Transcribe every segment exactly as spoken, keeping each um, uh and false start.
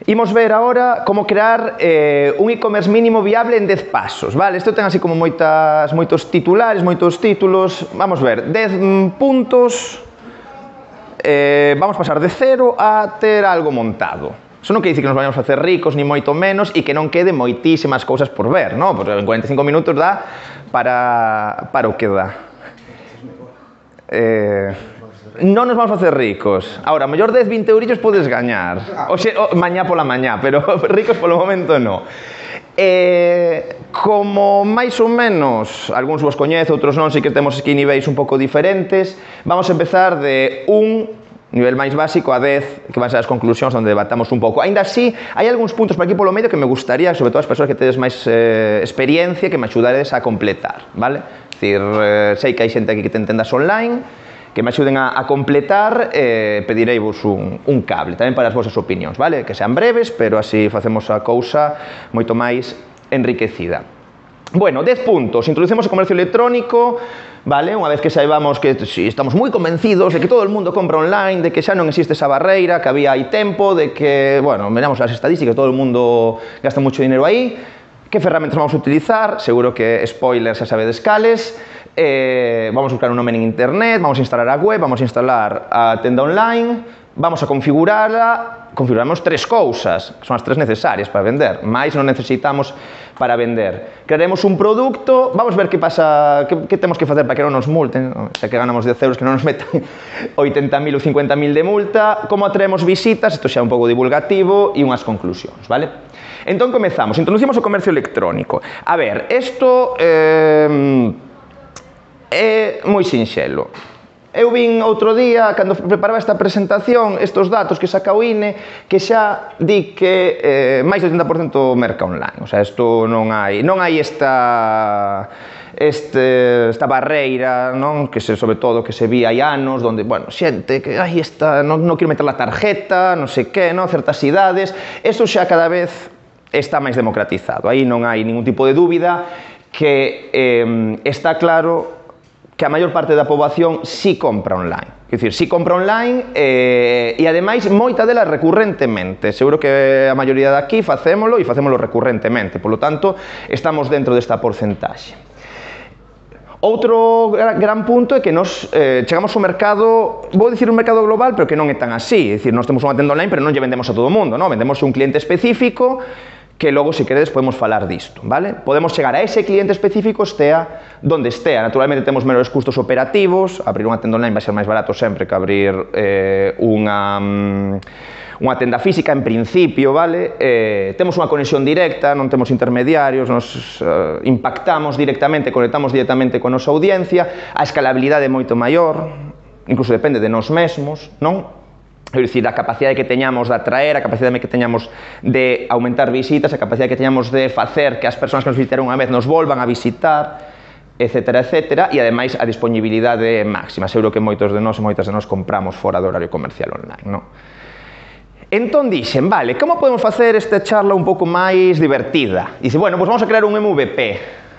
Imos ver agora como crear eh, un e-commerce mínimo viable en dez pasos, vale? Isto ten así como moitas, moitos titulares, moitos títulos. Vamos ver, dez puntos, eh, vamos pasar de cero a ter algo montado. Iso non quer dicir que nos vayamos a facer ricos, ni moito menos, e que non quede moitísimas cousas por ver, non? Porque en cuarenta e cinco minutos dá para, para o que dá. Eh... Non nos vamos a facer ricos. Ahora, a mellor dez, vinte eurillos podes gañar. O xe, o, mañá pola mañá, pero ricos polo momento non. Eh, como máis ou menos, algúns vos coñezo, outros non, si que temos aquí niveis un pouco diferentes, vamos a empezar de un nivel máis básico a dez, que van ser as conclusións onde debatamos un pouco. Ainda así, hai algúns puntos por aquí polo medio que me gustaría, sobre todo as persoas que tedes máis eh, experiencia, que me axudaredes a completar, vale? É dicir, eh, sei que hai xente aquí que te entendas online, que me axuden a, a completar, eh, pedireivos un, un cable, tamén para as vosas opinións, vale? Que sean breves, pero así facemos a cousa moito máis enriquecida. Bueno, dez puntos. Introducimos o comercio electrónico, vale? Unha vez que saibamos que si, estamos moi convencidos de que todo o mundo compra online, de que xa non existe esa barreira, que había aí tempo, de que, bueno, miramos as estadísticas, todo o mundo gasta moito dinero aí, que ferramentas vamos a utilizar, seguro que spoilers xa sabedes cales. Eh, vamos a buscar un nome en internet, vamos a instalar a web, vamos a instalar a tenda online, vamos a configurarla, configuramos tres cousas, que son as tres necesarias para vender, máis non necesitamos para vender. Crearemos un produto, vamos ver que pasa, que, que temos que facer para que non nos multen, xa que ganamos dez euros que non nos metan oitenta mil ou cincuenta mil de multa, como atraemos visitas, isto xa é un pouco divulgativo, e unhas conclusións, vale? Entón comezamos, introducimos o comercio electrónico. A ver, isto eh, é moi sinxelo. Eu vin outro día, cando preparaba esta presentación, estes datos que saca o I N E, que xa di que eh, máis do oitenta por cento merca online. O sea, isto non hai, non hai esta, este, esta barreira, non? Que se, sobre todo, que se vi hai anos, onde, bueno, xente que, ai, esta, non, non quero meter a tarjeta, non sei que, non? Certas idades. Isto xa cada vez está máis democratizado. Aí non hai ningún tipo de dúbida que eh, está claro que a maior parte da poboación sí compra online. Quer dicir, sí compra online eh, e, ademais, moita delas recurrentemente. Seguro que a maioría de aquí facémolo e facémolo recurrentemente. Por lo tanto, estamos dentro desta porcentaxe. Outro gran punto é que nos eh, chegamos ao mercado, vou dicir un mercado global, pero que non é tan así. É dicir, nós temos unha tenda online, pero non lle vendemos a todo o mundo, non? Vendemos a un cliente específico, que logo, se queredes, podemos falar disto, vale? Podemos chegar a ese cliente específico, estea donde estea. Naturalmente, temos menores custos operativos, abrir unha tenda online vai ser máis barato sempre que abrir eh, unha, unha tenda física, en principio, vale? Eh, temos unha conexión directa, non temos intermediarios, nos eh, impactamos directamente, conectamos directamente con a nosa audiencia, a escalabilidade é moito maior, incluso depende de nós mesmos, non? É dicir, a capacidade que teñamos de atraer, a capacidade que teñamos de aumentar visitas, a capacidade que teñamos de facer que as persoas que nos visitaron unha vez nos volvan a visitar, etcétera, etcétera, e ademais a disponibilidade máxima. Seguro que moitos de nós e moitas de nós compramos fora do horario comercial online, non? Entón dixen, vale, como podemos facer esta charla un pouco máis divertida? Dice, bueno, pois vamos a crear un M V P,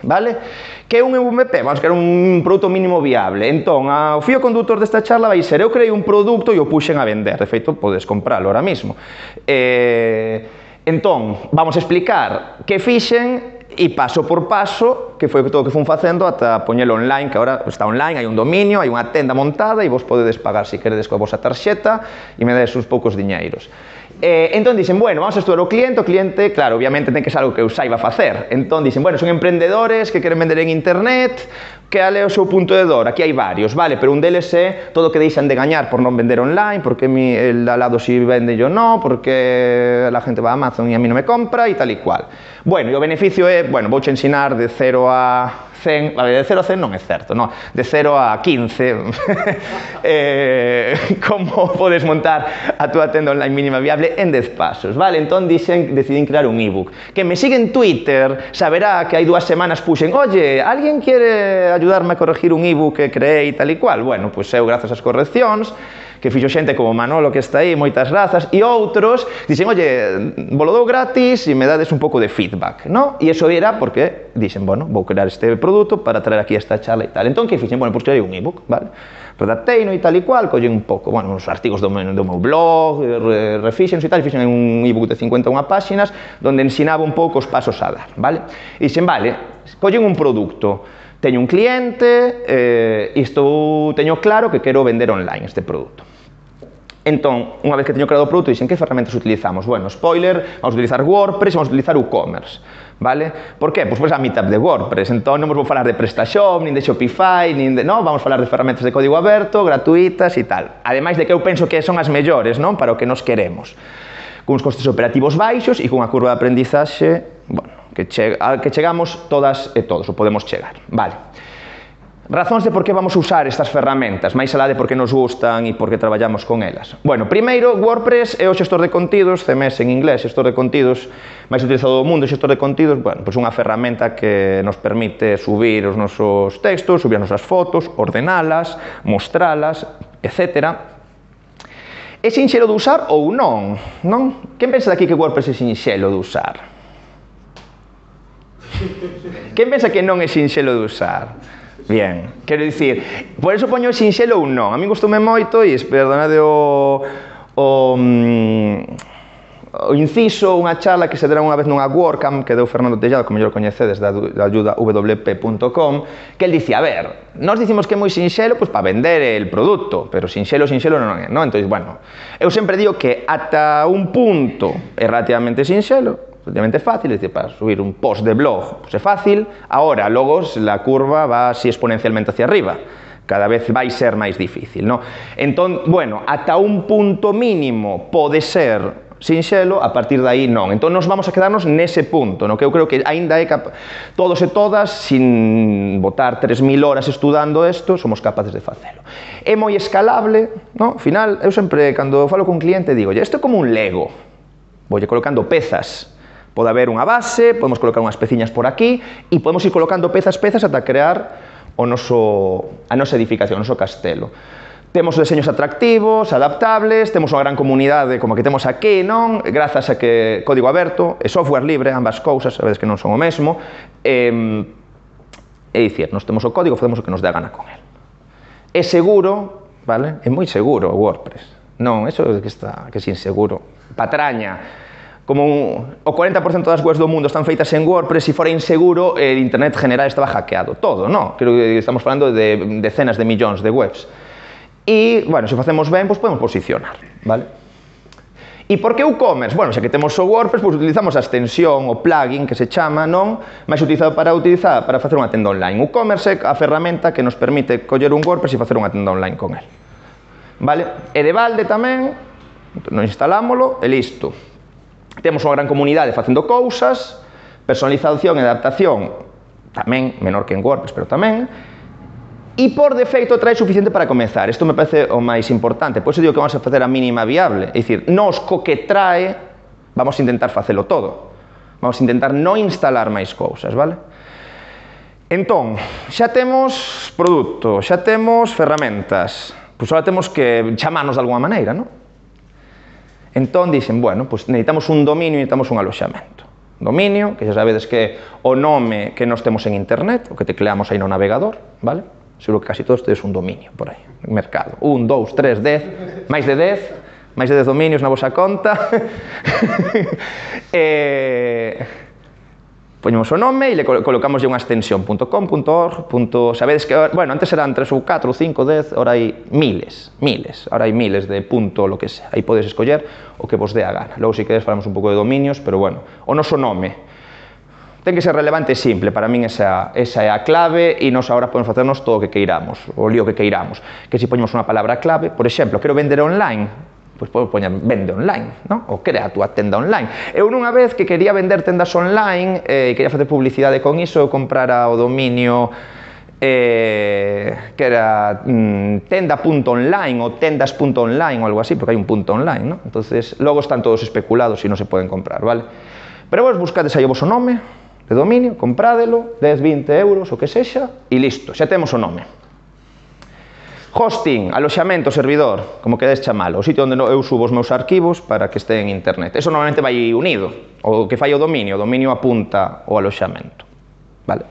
vale? Que é un M V P? Vamos a crear un produto mínimo viable. Entón, o fío conductor desta charla vai ser, eu creei un produto e o puxen a vender. De feito, podes compralo ahora mismo. Eh, entón, vamos a explicar que fixen e paso por paso, que foi todo o que fun facendo ata poñelo online, que agora está online, hai un dominio, hai unha tenda montada e vos podedes pagar se queredes coa vosa tarxeta e me dades uns poucos diñeiros. Eh, entón dicen, bueno, vamos a estudar o cliente, o cliente, claro, obviamente ten que ser algo que eu saiba facer. Entón dicen, bueno, son emprendedores que queren vender en internet, que ale o seu punto de dor, aquí hai varios, vale, pero un deles é todo o que deixan de gañar por non vender online, porque mi, el al lado si vende yo no, porque la gente va a Amazon e a mí non me compra e tal e cual. Bueno, e o beneficio é, bueno, vouche ensinar de cero a cen, a ver, de cero a cen non é certo, no, de cero a quince, eh, como podes montar a túa tenda online mínima viable en dez pasos, vale? Entón dixen, decidín crear un ebook. Que me sigue en Twitter saberá que hai dúas semanas puxen, oye, alguén quere ayudarme a corregir un ebook que creei tal e cual? Bueno, pois eu, grazas ás correccións, que fixo xente como Manolo que está aí, moitas grazas, e outros dixen, oye, volo dou gratis e me dades un pouco de feedback, no? E iso era porque dixen, bueno, vou crear este produto para traer aquí esta charla e tal. Entón, que fixen? Bueno, pois creei un ebook, vale? Redacteino e tal e cual, collen un pouco, bueno, os artigos do meu, do meu blog, re, refixen e tal, e fixen un ebook de cincuenta e unha páxinas, donde ensinaba un pouco os pasos a dar, vale? E dixen, vale, collen un produto, teño un cliente, eh, isto teño claro que quero vender online este produto. Entón, unha vez que teño creado o produto, dixen, que ferramentas utilizamos? Bueno, spoiler, vamos a utilizar WordPress, vamos a utilizar WooCommerce, vale? Por qué? Pois, pois a meetup de WordPress, entón non vos vou falar de PrestaShop, nin de Shopify, nin de, non, vamos a falar de ferramentas de código aberto, gratuitas e tal. Ademais de que eu penso que son as mellores, non, para o que nos queremos. Cuns costes operativos baixos e cunha curva de aprendizaxe, bueno, que, che, a que chegamos todas e todos, ou podemos chegar, vale. Razóns de por que vamos a usar estas ferramentas, máis alá de por que nos gustan e por que traballamos con elas. Bueno, primeiro, WordPress é o xestor de contidos, C M S en inglés, xestor de contidos máis utilizado do mundo, xestor de contidos, bueno, pois unha ferramenta que nos permite subir os nosos textos, subir as nosas fotos, ordenalas, mostralas, etcétera. É sinxelo de usar ou non? Non? Quen pensa daqui que WordPress é sinxelo de usar? Quen pensa que non é sinxelo de usar? Bien, quero dicir, por eso poño sinxelo ou non. A mí gustoume moito e, perdonade o, o, o inciso, unha charla que se dera unha vez nunha WordCamp que deu Fernando Tellado, como mellor coñecedes, da, da ayuda w p punto com, que el dicía, a ver, nós dicimos que é moi sinxelo pois, para vender el produto, pero sinxelo, sinxelo non é, non? Entón, bueno, eu sempre digo que ata un punto é relativamente sinxelo, relativamente fácil, es decir, para subir un post de blog pues é fácil, ahora, logo, la curva va así exponencialmente hacia arriba, cada vez vai ser máis difícil, ¿no? Entón, bueno, ata un punto mínimo pode ser sinxelo, a partir de aí non. Entón, nos vamos a quedarnos nese punto, no? Que eu creo que aínda é cap... todos e todas, sin botar tres mil horas estudando isto, somos capaces de facelo. É moi escalable, no? Ao final, eu sempre, cando falo con un cliente, digo, isto é como un Lego, voulle colocando pezas. Pode haber unha base, podemos colocar unhas peciñas por aquí e podemos ir colocando pezas, pezas ata crear o noso, a nosa edificación, o noso castelo. Temos deseños atractivos, adaptables, temos unha gran comunidade como a que temos aquí, non? Grazas a que código aberto e software libre, ambas cousas, sabedes que non son o mesmo. É, é dicir, nos temos o código, facemos o que nos dé a gana con el. É seguro, vale? É moi seguro o WordPress. Non, eso é que está, que é inseguro. Patraña. Como un, o cuarenta por cento das webs do mundo están feitas en WordPress, se fora inseguro, el internet general estaba hackeado. Todo, non? Creo que estamos falando de decenas de millóns de webs. E, bueno, se facemos ben, pois podemos posicionar, vale? E por que WooCommerce? Bueno, xa que temos o WordPress, pois utilizamos a extensión, o plugin, que se chama, non? Mais utilizado para utilizar, para facer unha tenda online. WooCommerce é a ferramenta que nos permite coller un WordPress e facer unha tenda online con el. Vale? E de balde tamén, non instalámolo e listo. Temos unha gran comunidade facendo cousas, personalización e adaptación, tamén, menor que en WordPress, pero tamén, e por defecto trae suficiente para comenzar. Isto me parece o máis importante, por iso digo que vamos a facer a mínima viable, é dicir, nos co que trae, vamos a intentar facelo todo, vamos a intentar non instalar máis cousas, vale? Entón, xa temos produto, xa temos ferramentas, pois agora temos que chamarnos de alguma maneira, non? Entón, dixen, bueno, pues necesitamos un dominio e necesitamos un aloxamento. Dominio, que xa sabedes que o nome que nos temos en internet, o que tecleamos aí no navegador, vale? Seguro que casi todos tedes un dominio por aí, en mercado. Un, dous, tres, dez, máis de dez, máis de dez dominios na vosa conta. eh... Poñemos o nome e le colocamos unha extensión .com, .org, sabedes que, bueno, antes eran tres ou catro, cinco, dez, ahora hai miles, miles, ahora hai miles de punto, lo que sea, aí podes escoller o que vos dé a gana. Logo, se queres, falamos un pouco de dominios, pero bueno, o noso nome ten que ser relevante e simple, para min esa, esa é a clave e nos agora podemos facernos todo o que queiramos, o lío que queiramos, que se poñemos unha palabra clave, por exemplo, quero vender online, pois podes poñer vende online, non? Ou crea a túa tenda online. Eu nunha vez que quería vender tendas online e eh, quería facer publicidade con iso, eu comprara o dominio eh, que era mm, tenda punto online ou tendas punto online ou algo así, porque hai un punto online, non? Entonces, logo están todos especulados e non se poden comprar, vale? Pero vos buscades aí o voso nome de dominio, comprádelo, dez, vinte euros, o que sexa, e listo, xa temos o nome. Hosting, aloxamento, servidor, como quedes chamalo, o sitio onde eu subo os meus arquivos para que este en internet. Eso normalmente vai unido, o que fai o dominio, o dominio apunta o aloxamento. Vale?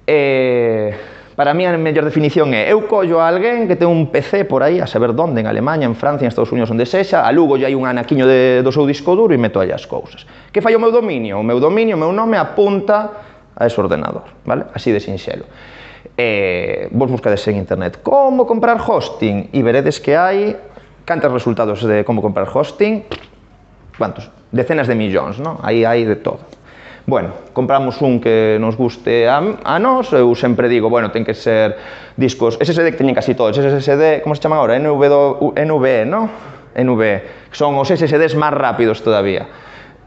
Eh, para mí a mellor definición é, eu collo a alguén que ten un P C por aí, a saber onde, en Alemanha, en Francia, en Estados Unidos, onde sexa, alugo hai un anaquiño de, do seu disco duro e meto aí as cousas. Que fai o meu dominio? O meu dominio, o meu nome apunta a ese ordenador, vale? Así de sinxelo. Eh, vos buscades en internet como comprar hosting e veredes que hai cantos resultados de como comprar hosting, cuantos? Decenas de millóns, non? Aí hai de todo. Bueno, compramos un que nos guste a, a nós, eu sempre digo, bueno, ten que ser discos S S D que teñen casi todos, S S D, como se chama agora? N V E, non? N V E, que son os S S Ds máis rápidos todavía.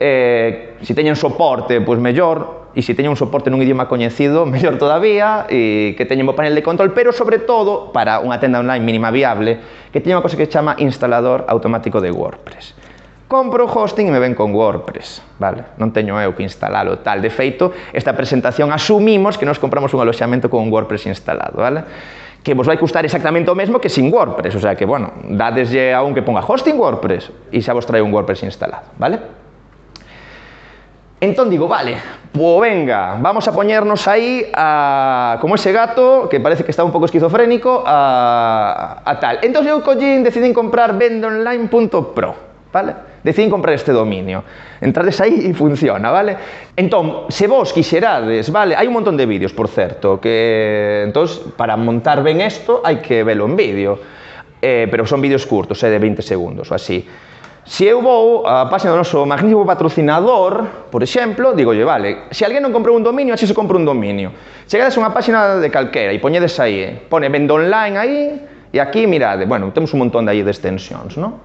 Eh, si teñen soporte, pois mellor, e se teñen un soporte nun idioma coñecido, mellor todavía, e que teñen un panel de control, pero sobre todo, para unha tenda online mínima viable, que teña unha cosa que se chama instalador automático de WordPress. Compro hosting e me ven con WordPress, vale? Non teño eu que instalalo tal. De feito, esta presentación asumimos que nos compramos un aloxamento con un WordPress instalado, vale? Que vos vai custar exactamente o mesmo que sin WordPress, o sea que, bueno, dadeslle a un que ponga hosting WordPress e xa vos trae un WordPress instalado, vale? Entón digo, vale, pues venga, vamos a poñernos aí a, como ese gato, que parece que está un pouco esquizofrénico, a, a tal. Entón eu collín, decidín comprar vendonline punto pro, vale? Decidín comprar este dominio. Entrades aí e funciona, vale? Entón, se vos quixerades, vale? Hai un montón de vídeos, por certo, que, entón, para montar ben isto, hai que velo en vídeo. Eh, pero son vídeos curtos, eh, de veinte segundos, ou así. Se eu vou á página do noso magnífico patrocinador, por exemplo, digolle, vale, se alguén non comprou un dominio, así se compra un dominio. Chegades a unha página de calquera e poñedes aí, pone vendonline aí, e aquí, mirade, bueno, temos un montón de aí de extensións, non?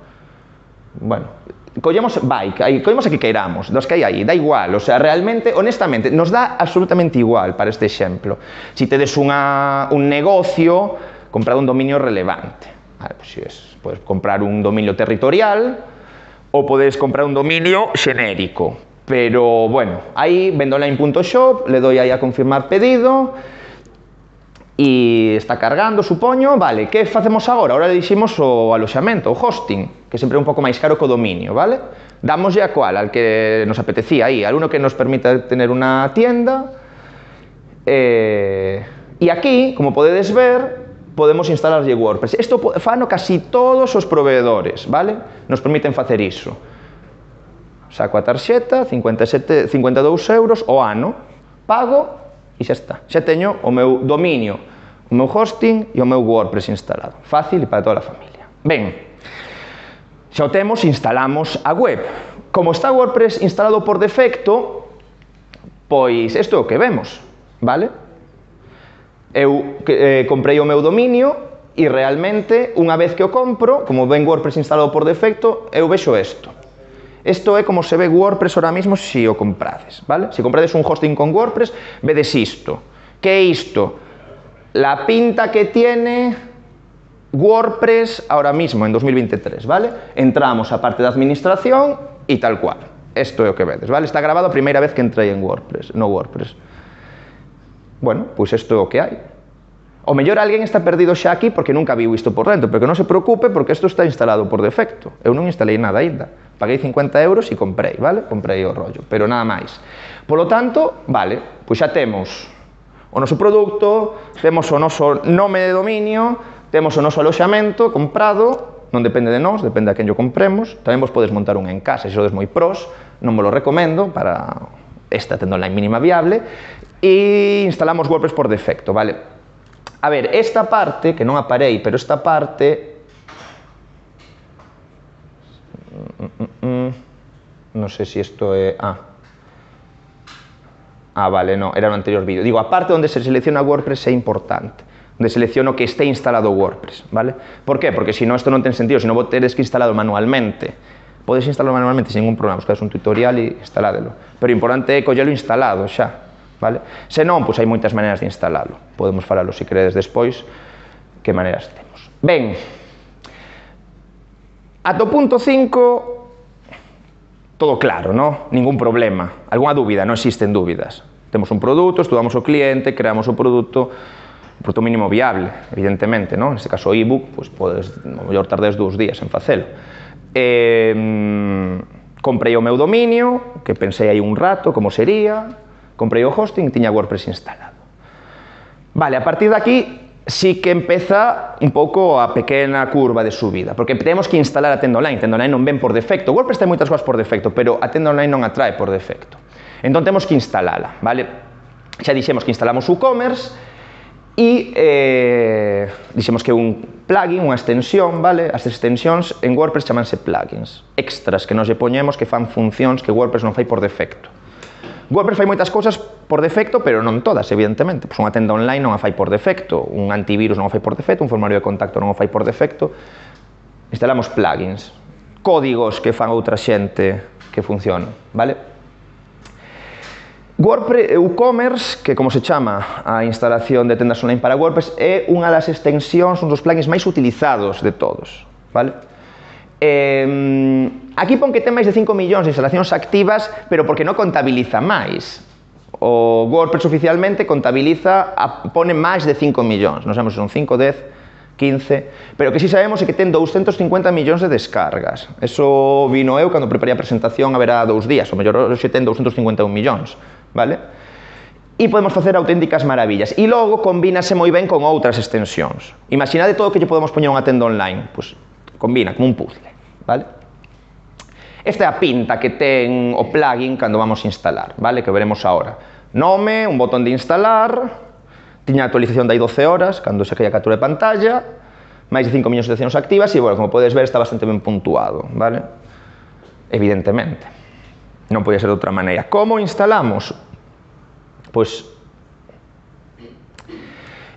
Bueno, collemos bike, aí, collemos a que queiramos, dos que hai aí, da igual, o sea, realmente, honestamente, nos dá absolutamente igual para este exemplo. Si tedes unha, un negocio, comprad un dominio relevante. Vale, pues si es, podes comprar un dominio territorial, ou podes comprar un dominio xenérico. Pero, bueno, aí vendonline punto shop, le doy aí a confirmar pedido e está cargando, supoño. Vale, que facemos agora? Agora diximos o aloxamento, o hosting, que sempre é un pouco máis caro que o dominio, vale? Damoslle a cual, al que nos apetecía aí, al uno que nos permita tener unha tienda. Eh, e aquí, como podedes ver, podemos instalarlle WordPress. Isto fano casi todos os proveedores, vale? Nos permiten facer iso. Saco a tarxeta, cincuenta e sete, cincuenta e dous euros o ano, pago e xa está. Xa teño o meu dominio, o meu hosting e o meu WordPress instalado. Fácil e para toda a familia. Ben, xa o temos, instalamos a web. Como está WordPress instalado por defecto, pois isto é o que vemos, vale? Eu eh, comprei o meu dominio e realmente, unha vez que o compro, como ven WordPress instalado por defecto, eu vexo isto. Isto é como se ve WordPress ahora mismo se o comprades, vale? Se comprades un hosting con WordPress, vedes isto. Que é isto? La pinta que tiene WordPress ahora mismo, en dos mil veintitrés, vale? Entramos a parte de administración e tal cual. Isto é o que vedes, vale? Está grabado a primeira vez que entrei en WordPress, no WordPress. Bueno, pois isto é o que hai. O mellor alguén está perdido xa aquí porque nunca viu isto por dentro, pero que non se preocupe porque isto está instalado por defecto. Eu non instalei nada ainda. Paguei cincuenta euros e comprei, vale? Comprei o rollo, pero nada máis. Polo tanto, vale, pois xa temos o noso produto, temos o noso nome de dominio, temos o noso aloxamento comprado, non depende de nós, depende a quen yo compremos. Tamén vos podes montar un en casa, se sodes moi pros, non vos lo recomendo para esta tenda online mínima viable. E instalamos WordPress por defecto, vale? A ver, esta parte, que non aparei, pero esta parte... Non sei se isto é... Ah, ah vale, no, era no anterior vídeo. Digo, a parte onde se selecciona WordPress é importante. Onde selecciono que esté instalado WordPress, vale? Por qué? Porque se non, isto non ten sentido, se non vos tedes que instalado manualmente. Podes instalarlo manualmente sin ningún problema, buscades un tutorial e instaládelo. Pero o importante é collelo instalado xa. Vale? Se non, pois hai moitas maneiras de instalalo. Podemos falalo se queredes despois que maneiras temos. Ben, ata o punto cinco todo claro, non? Ningún problema. Algúna dúbida? Non existen dúbidas. Temos un produto, estudamos o cliente, creamos o produto, produto mínimo viable, evidentemente, non? Neste caso o ebook, pois podes, no mellor tardes dous días en facelo. Eh, comprei o meu dominio, que pensei aí un rato como sería, comprei o hosting e tiña WordPress instalado. Vale, a partir de aquí sí que empeza un pouco a pequena curva de subida, porque temos que instalar a tenda online, tenda online non ven por defecto, WordPress ten moitas cousas por defecto, pero a tenda online non atrae por defecto. Entón temos que instalala, vale? Xa dixemos que instalamos WooCommerce e eh, dixemos que un plugin, unha extensión, vale? As extensións en WordPress chamanse plugins, extras que nos lle poñemos que fan funcións que WordPress non fai por defecto. WordPress fai moitas cousas por defecto, pero non todas, evidentemente. Pois unha tenda online non a fai por defecto, un antivirus non o fai por defecto, un formulario de contacto non o fai por defecto. Instalamos plugins, códigos que fan outra xente que funcionan, vale? WordPress, WooCommerce, que como se chama a instalación de tendas online para WordPress, é unha das extensións, un dos plugins máis utilizados de todos, vale? Eh, aquí pon que ten máis de cinco millóns de instalacións activas, pero porque non contabiliza máis. O WordPress oficialmente contabiliza, a, pone máis de cinco millóns, non sabemos se son cinco, dez, quince, pero que si sabemos é que ten doscientos cincuenta millóns de descargas. Eso vino eu cando preparei a presentación a verá dous días, o mellor hoxe ten doscientos cincuenta e un millóns. Vale? E podemos facer auténticas maravillas. E logo combínase moi ben con outras extensións. Imaginade todo o que lle podemos poñer unha tenda online. Pois combina como un puzzle. Vale? Esta é a pinta que ten o plugin cando vamos a instalar, vale? Que veremos agora. Nome, un botón de instalar, tiña actualización de hai doce horas, cando se caía a captura de pantalla, máis de cinco millóns de seccións activas e, bueno, como podes ver, está bastante ben puntuado, vale? Evidentemente. Non podía ser de outra maneira. Como instalamos? Pois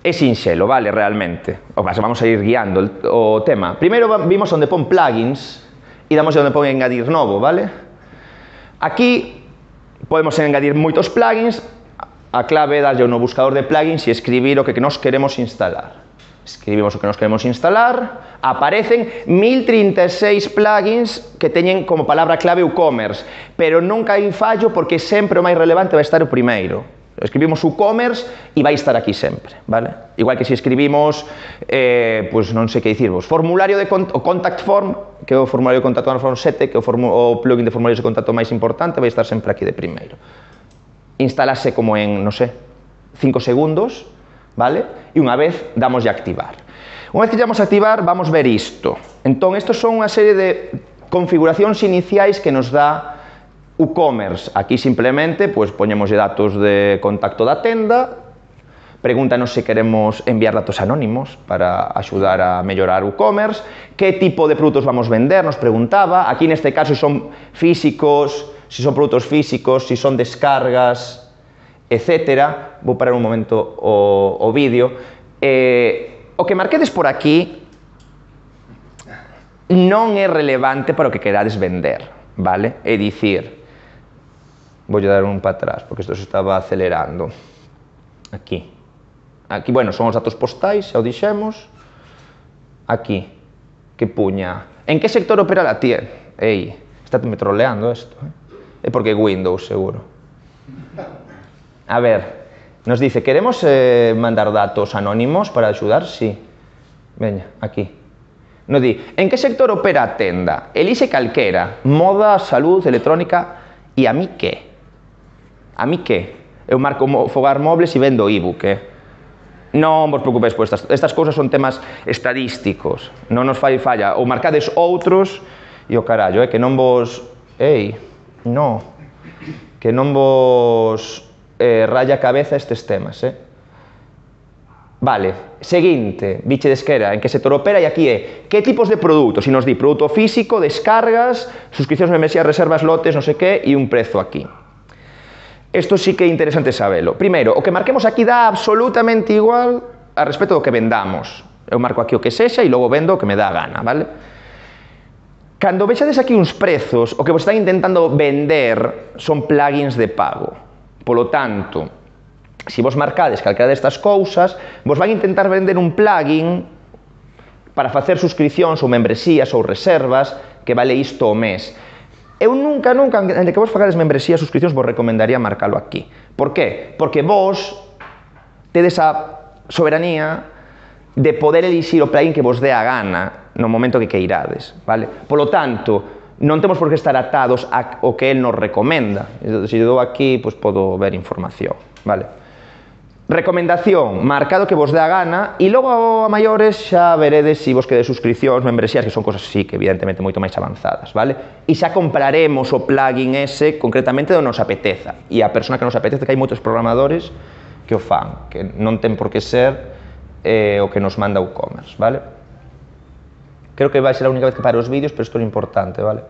é sinxelo, vale, realmente. O sea, vamos a ir guiando el, o tema. Primeiro vimos onde pon plugins e damos onde pon engadir novo, vale? Aquí podemos engadir moitos plugins. A clave é darlle no buscador de plugins e escribir o que nos queremos instalar. Escribimos o que nos queremos instalar, aparecen mil trinta e seis plugins que teñen como palabra clave WooCommerce, pero nunca hai fallo porque sempre o máis relevante vai estar o primeiro. Escribimos WooCommerce e vai estar aquí sempre, vale? Igual que se escribimos, eh, pues non sei que dicirvos, formulario de cont o contact form, que é o formulario de contacto na form sete, que é o, o plugin de formularios de contacto máis importante, vai estar sempre aquí de primeiro. Instalase como en, non sei, cinco segundos, vale? E unha vez damos a activar. Unha vez que damos a activar, vamos ver isto. Entón, estos son unha serie de configuracións iniciais que nos dá WooCommerce. Aquí simplemente, pues, poñemos datos de contacto da tenda, pregúntanos se queremos enviar datos anónimos para axudar a mellorar WooCommerce, que tipo de produtos vamos vender, nos preguntaba. Aquí neste caso son físicos, si son produtos físicos, si son descargas, etcétera. Vou parar un momento o, o vídeo. Eh, o que marquedes por aquí non é relevante para o que querades vender, vale? É dicir, vou dar un para atrás, porque isto se estaba acelerando. Aquí. Aquí, bueno, son os datos postais, xa o dixemos. Aquí, que puña. En que sector opera la tienda? Ei, está me troleando isto, eh? É porque é Windows, seguro. A ver, nos dice, ¿queremos eh, mandar datos anónimos para ayudar? Sí. Veña, aquí. Nos di, ¿en que sector opera a tenda? Elixe calquera, moda, salud, electrónica, e a mí que? A mí que? Eu marco fogar mobles e vendo ebook, eh? Non vos preocupeis por estas, estas cousas son temas estadísticos, non nos fai falla, ou marcades outros, e o carallo, eh, que non vos... Ei, no, que non vos... Eh, raya a cabeza estes temas, eh? Vale, seguinte, biche de esquera, en que sector opera, e aquí é, que tipos de produtos? E nos di, produto físico, descargas, suscripcións, membresías, reservas, lotes, non sei que, e un prezo aquí. Isto sí que é interesante sabelo. Primeiro, o que marquemos aquí dá absolutamente igual a respecto do que vendamos. Eu marco aquí o que sexa e logo vendo o que me dá a gana, vale? Cando vexades aquí uns prezos, o que vos están intentando vender son plugins de pago. Polo tanto, se vos marcades calquera destas cousas, vos van intentar vender un plugin para facer suscripcións ou membresías ou reservas que vale isto o mes. Eu nunca, nunca, en que vos fagades membresías ou suscripcións, vos recomendaría marcalo aquí. Por qué? Porque vos tedes a soberanía de poder elixir o plugin que vos dé a gana no momento que queirades, vale? Polo tanto, non temos por que estar atados ao que el nos recomenda. Se eu dou aquí, pois podo ver información, vale? Recomendación, marcado que vos dé a gana, e logo a maiores xa veredes se vos quede suscripcións, membresías, que son cosas así, que evidentemente moito máis avanzadas, vale? E xa compraremos o plugin ese concretamente onde nos apeteza. E a persona que nos apetece, que hai moitos programadores que o fan, que non ten por que ser eh, o que nos manda WooCommerce, vale? Creo que vai ser a única vez que pare os vídeos, pero isto é importante, vale?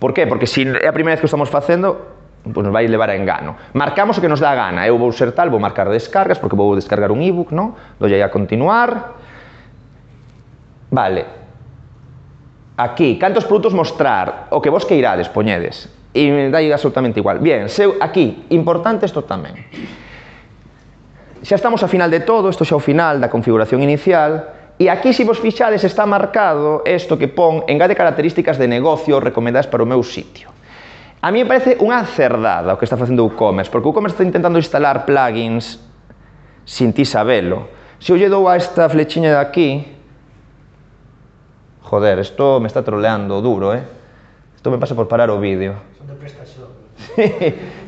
Por qué? Porque se é a primeira vez que o estamos facendo, pues nos vai levar a engano. Marcamos o que nos dá a gana. Eu vou ser tal, vou marcar descargas, porque vou descargar un ebook, non? Dolle a continuar. Vale. Aquí, cantos produtos mostrar? O que vos queirades, poñedes. E me dai absolutamente igual. Bien, seu, aquí, importante isto tamén. Xa estamos ao final de todo, isto xa ao final da configuración inicial, e aquí, se vos fixades, está marcado isto que pon engade características de negocio recomendadas para o meu sitio. A mí me parece unha cerdada o que está facendo WooCommerce, porque WooCommerce está intentando instalar plugins sin ti sabelo. Se eu lle dou a esta flechiña de aquí, joder, isto me está troleando duro, eh? Isto me pasa por parar o vídeo. Son de PrestaShop.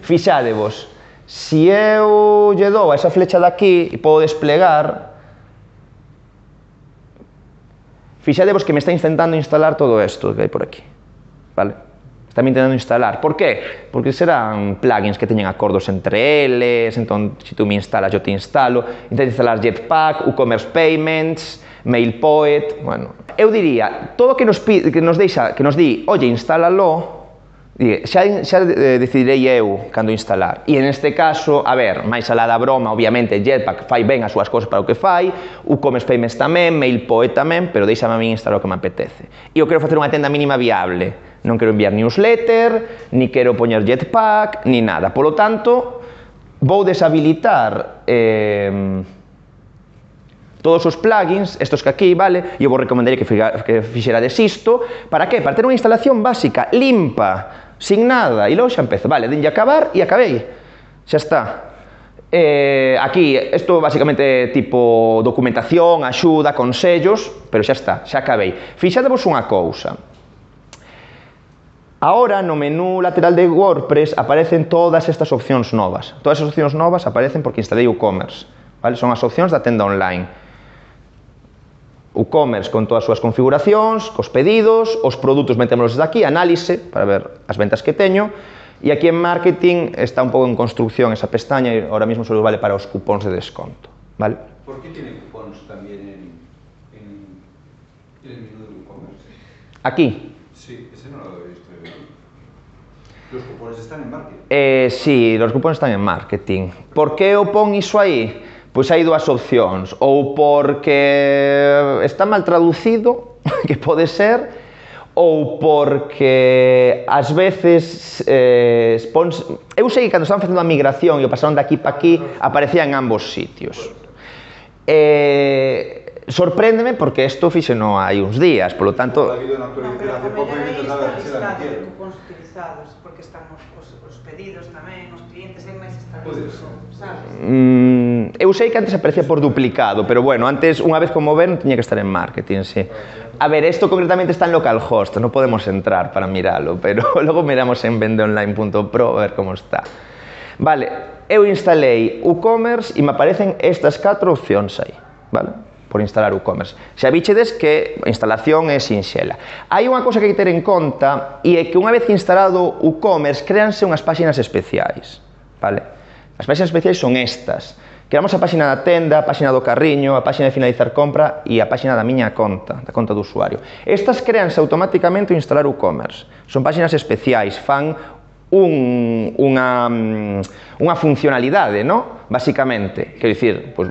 Fixadevos, se eu lle dou a esa flecha de aquí e podo desplegar, fixadevos que me está intentando instalar todo isto que hai por aquí, vale? Está me intentando instalar. Por qué? Porque serán plugins que teñen acordos entre eles, entón, se tú me instalas, yo te instalo, intento instalar Jetpack, WooCommerce Payments, MailPoet, bueno. Eu diría, todo que nos, pide, que nos deixa, que nos di, oye, instálalo, xa, xa decidirei eu cando instalar. E en este caso, a ver, máis alá da broma, obviamente, Jetpack fai ben as súas cosas para o que fai, WooCommerce Payments tamén, MailPoet tamén, pero deixame a mí instalar o que me apetece. E eu quero facer unha tenda mínima viable. Non quero enviar newsletter, ni quero poñer Jetpack, ni nada. Polo tanto, vou deshabilitar eh, todos os plugins, estos que aquí, vale? E eu vos recomendaría que, que fixerades isto. Para que? Para ter unha instalación básica, limpa, sin nada. E logo xa empezo. Vale, denlle acabar e acabei. Xa está. Eh, aquí, isto basicamente tipo documentación, axuda, consellos, pero xa está, xa acabei. Fixadevos unha cousa. Ahora, no menú lateral de WordPress aparecen todas estas opcións novas. Todas as opcións novas aparecen porque instalei WooCommerce, vale? Son as opcións da tenda online. WooCommerce con todas as súas configuracións, cos pedidos, os produtos metémolos desde aquí, análise, para ver as ventas que teño, e aquí en marketing está un pouco en construcción esa pestaña e ahora mismo só vale para os cupóns de desconto, vale? ¿Por qué tiene cupóns también en, en, en el menú de WooCommerce? Aquí. Sí, ese no lo he visto yo. ¿Los cupones están en marketing? Eh, sí, los cupones están en marketing. Por que o pon iso aí? Pois hai dúas opcións, ou porque está mal traducido, que pode ser, ou porque ás veces eh, spons... eu sei que cando estaban facendo a migración e o pasaron de aquí para aquí, aparecía en ambos sitios. Eh, sorpréndeme porque isto fixeno hai uns días, polo tanto... No, pero a mellor aí está listado de cupóns utilizados, porque están os, os, os pedidos tamén, os clientes en máis establecidos, sabes? Mm, eu sei que antes aparecía por duplicado, pero bueno, antes, unha vez como ven, tiña que estar en marketing, sí. A ver, isto concretamente está en localhost, non podemos entrar para miralo, pero logo miramos en vendeonline punto pro a ver como está. Vale, eu instalei WooCommerce e me aparecen estas catro opcións aí, vale? Por instalar WooCommerce. Xa vichedes que a instalación é sinxela. Hai unha cousa que hai que ter en conta e é que unha vez instalado WooCommerce, créanse unhas páxinas especiais, vale? As páxinas especiais son estas. Creamos a páxina da tenda, a páxina do carriño, a páxina de finalizar compra e a páxina da miña conta, da conta do usuario. Estas créanse automáticamente ao instalar WooCommerce. Son páxinas especiais, fan un, unha, unha funcionalidade, no? Basicamente, quero dicir, pues,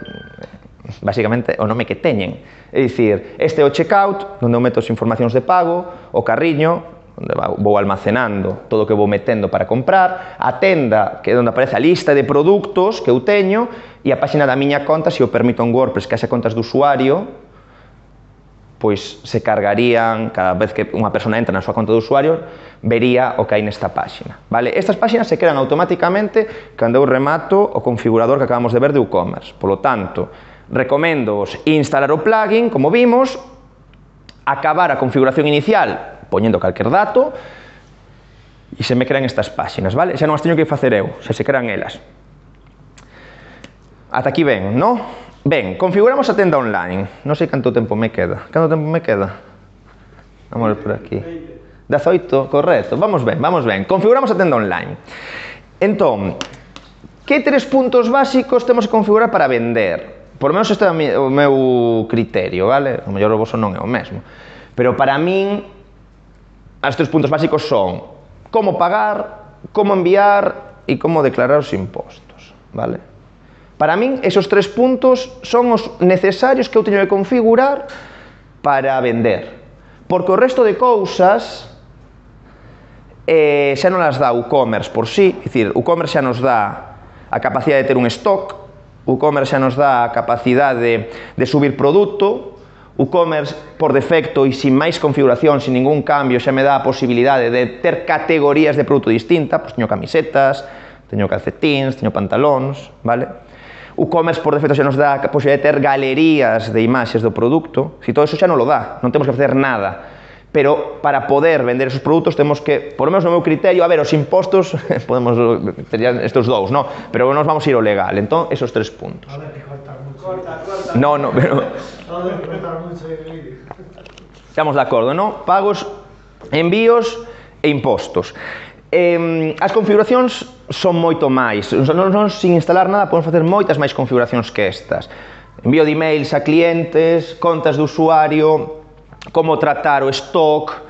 basicamente o nome que teñen. É dicir, este é o checkout, onde eu meto as informacións de pago, o carriño, onde vou almacenando todo o que vou metendo para comprar, a tenda, que é onde aparece a lista de produtos que eu teño, e a páxina da miña conta, se eu permito en WordPress que haxa contas do usuario, pois se cargarían, cada vez que unha persona entra na súa conta do usuario, vería o que hai nesta páxina, vale? Estas páxinas se crean automáticamente cando eu remato o configurador que acabamos de ver de WooCommerce. Polo tanto, Recoméndoos instalar o plugin, como vimos, acabar a configuración inicial poñendo calquer dato e se me crean estas páxinas, vale? Xa non as teño que facer eu, xa se crean elas. Ata aquí ben, non? Ben, configuramos a tenda online. Non sei canto tempo me queda. Canto tempo me queda? Vamos a ver por aquí. dezaoito, correcto. Vamos ben, vamos ben. Configuramos a tenda online. Entón, que tres puntos básicos temos que configurar para vender? Por lo menos este é o meu criterio, vale? O mellor o voso non é o mesmo. Pero para min, os tres puntos básicos son como pagar, como enviar e como declarar os impostos, vale? Para min, esos tres puntos son os necesarios que eu teño que configurar para vender. Porque o resto de cousas eh, xa non as dá o e-commerce por sí, é dicir, o e-commerce xa nos dá a capacidade de ter un stock, o e-commerce xa nos dá a capacidade de subir produto, o e-commerce por defecto e sin máis configuración, sin ningún cambio, xa me dá a posibilidade de ter categorías de produto distinta, pois teño camisetas, teño calcetíns, teño pantalóns, vale? O e-commerce por defecto xa nos dá a posibilidade de ter galerías de imaxes do produto, si todo eso xa non lo dá, non temos que facer nada. Pero para poder vender esos produtos temos que, por lo menos no meu criterio, a ver, os impostos, podemos, terían estos dous, no? Pero nos vamos a ir ao legal, entón, esos tres puntos. A ver, que cortar mucho. Corta, corta. No, no, pero... A ver, que cortar mucho el vídeo. Estamos de acordo, no? Pagos, envíos e impostos. Eh, as configuracións son moito máis, non, non sin instalar nada podemos facer moitas máis configuracións que estas. Envío de emails a clientes, contas de usuario, como tratar o stock,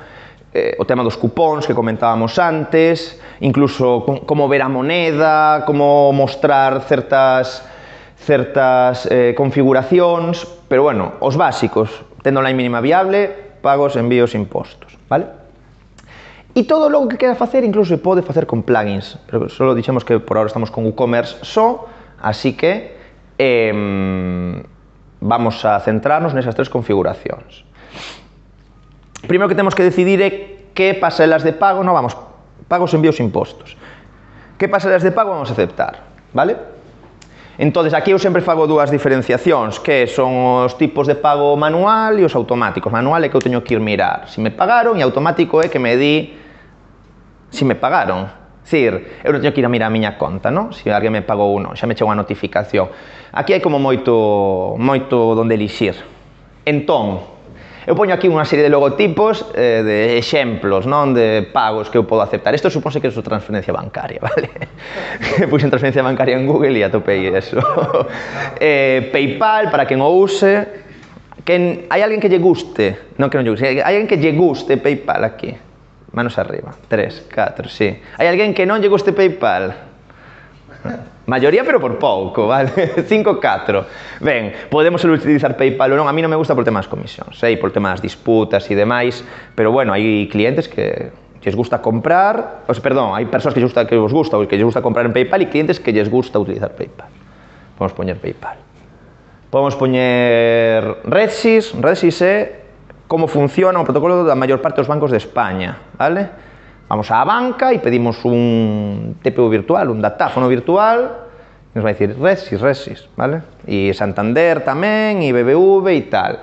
eh, o tema dos cupóns que comentábamos antes, incluso como ver a moneda, como mostrar certas, certas eh, configuracións, pero bueno, os básicos, tendo online mínima viable, pagos, envíos, impostos, vale? E todo logo que queda facer incluso se pode facer con plugins, pero só dixemos que por ahora estamos con WooCommerce só, así que eh, vamos a centrarnos nesas tres configuracións. Primeiro que temos que decidir é que pasarelas de pago, non vamos, pagos, envíos, impostos. Que pasarelas de pago vamos a aceptar, vale? Entonces, aquí eu sempre fago dúas diferenciacións, que son os tipos de pago manual e os automáticos. Manual é que eu teño que ir mirar se me pagaron e automático é que me di se me pagaron. Dicir, eu non teño que ir a mirar a miña conta, non? Se alguén me pagou ou non, xa me chegou a notificación. Aquí hai como moito, moito donde elixir. Entón, eu poño aquí unha serie de logotipos, eh, de exemplos, non? De pagos que eu podo aceptar. Isto supónse que é transferencia bancaria, vale? Puxen transferencia bancaria en Google e atopei eso. eh, PayPal, para quen o use. Quen, hai alguén que lle guste? Non que non lle guste. Hai alguén que lle guste PayPal aquí? Manos arriba. Tres, catro, sí. Hai alguén que non lle guste PayPal? Mayoría, pero por pouco, vale? cinco, catro. Ben, podemos utilizar PayPal ou non, a mí non me gusta por temas comisións, sei, por temas disputas e demais, pero bueno, hai clientes que lles gusta comprar, o sea, perdón, hai persoas que lles gusta, que vos gusta, que lles gusta comprar en PayPal e clientes que lles gusta utilizar PayPal. Podemos poñer PayPal. Podemos poñer Redsys, Redsys é como funciona o protocolo da maior parte dos bancos de España, vale? Vamos á banca e pedimos un T P U virtual, un datáfono virtual, e nos vai dicir Redsys, Redsys, vale? E Santander tamén, e B B V e tal.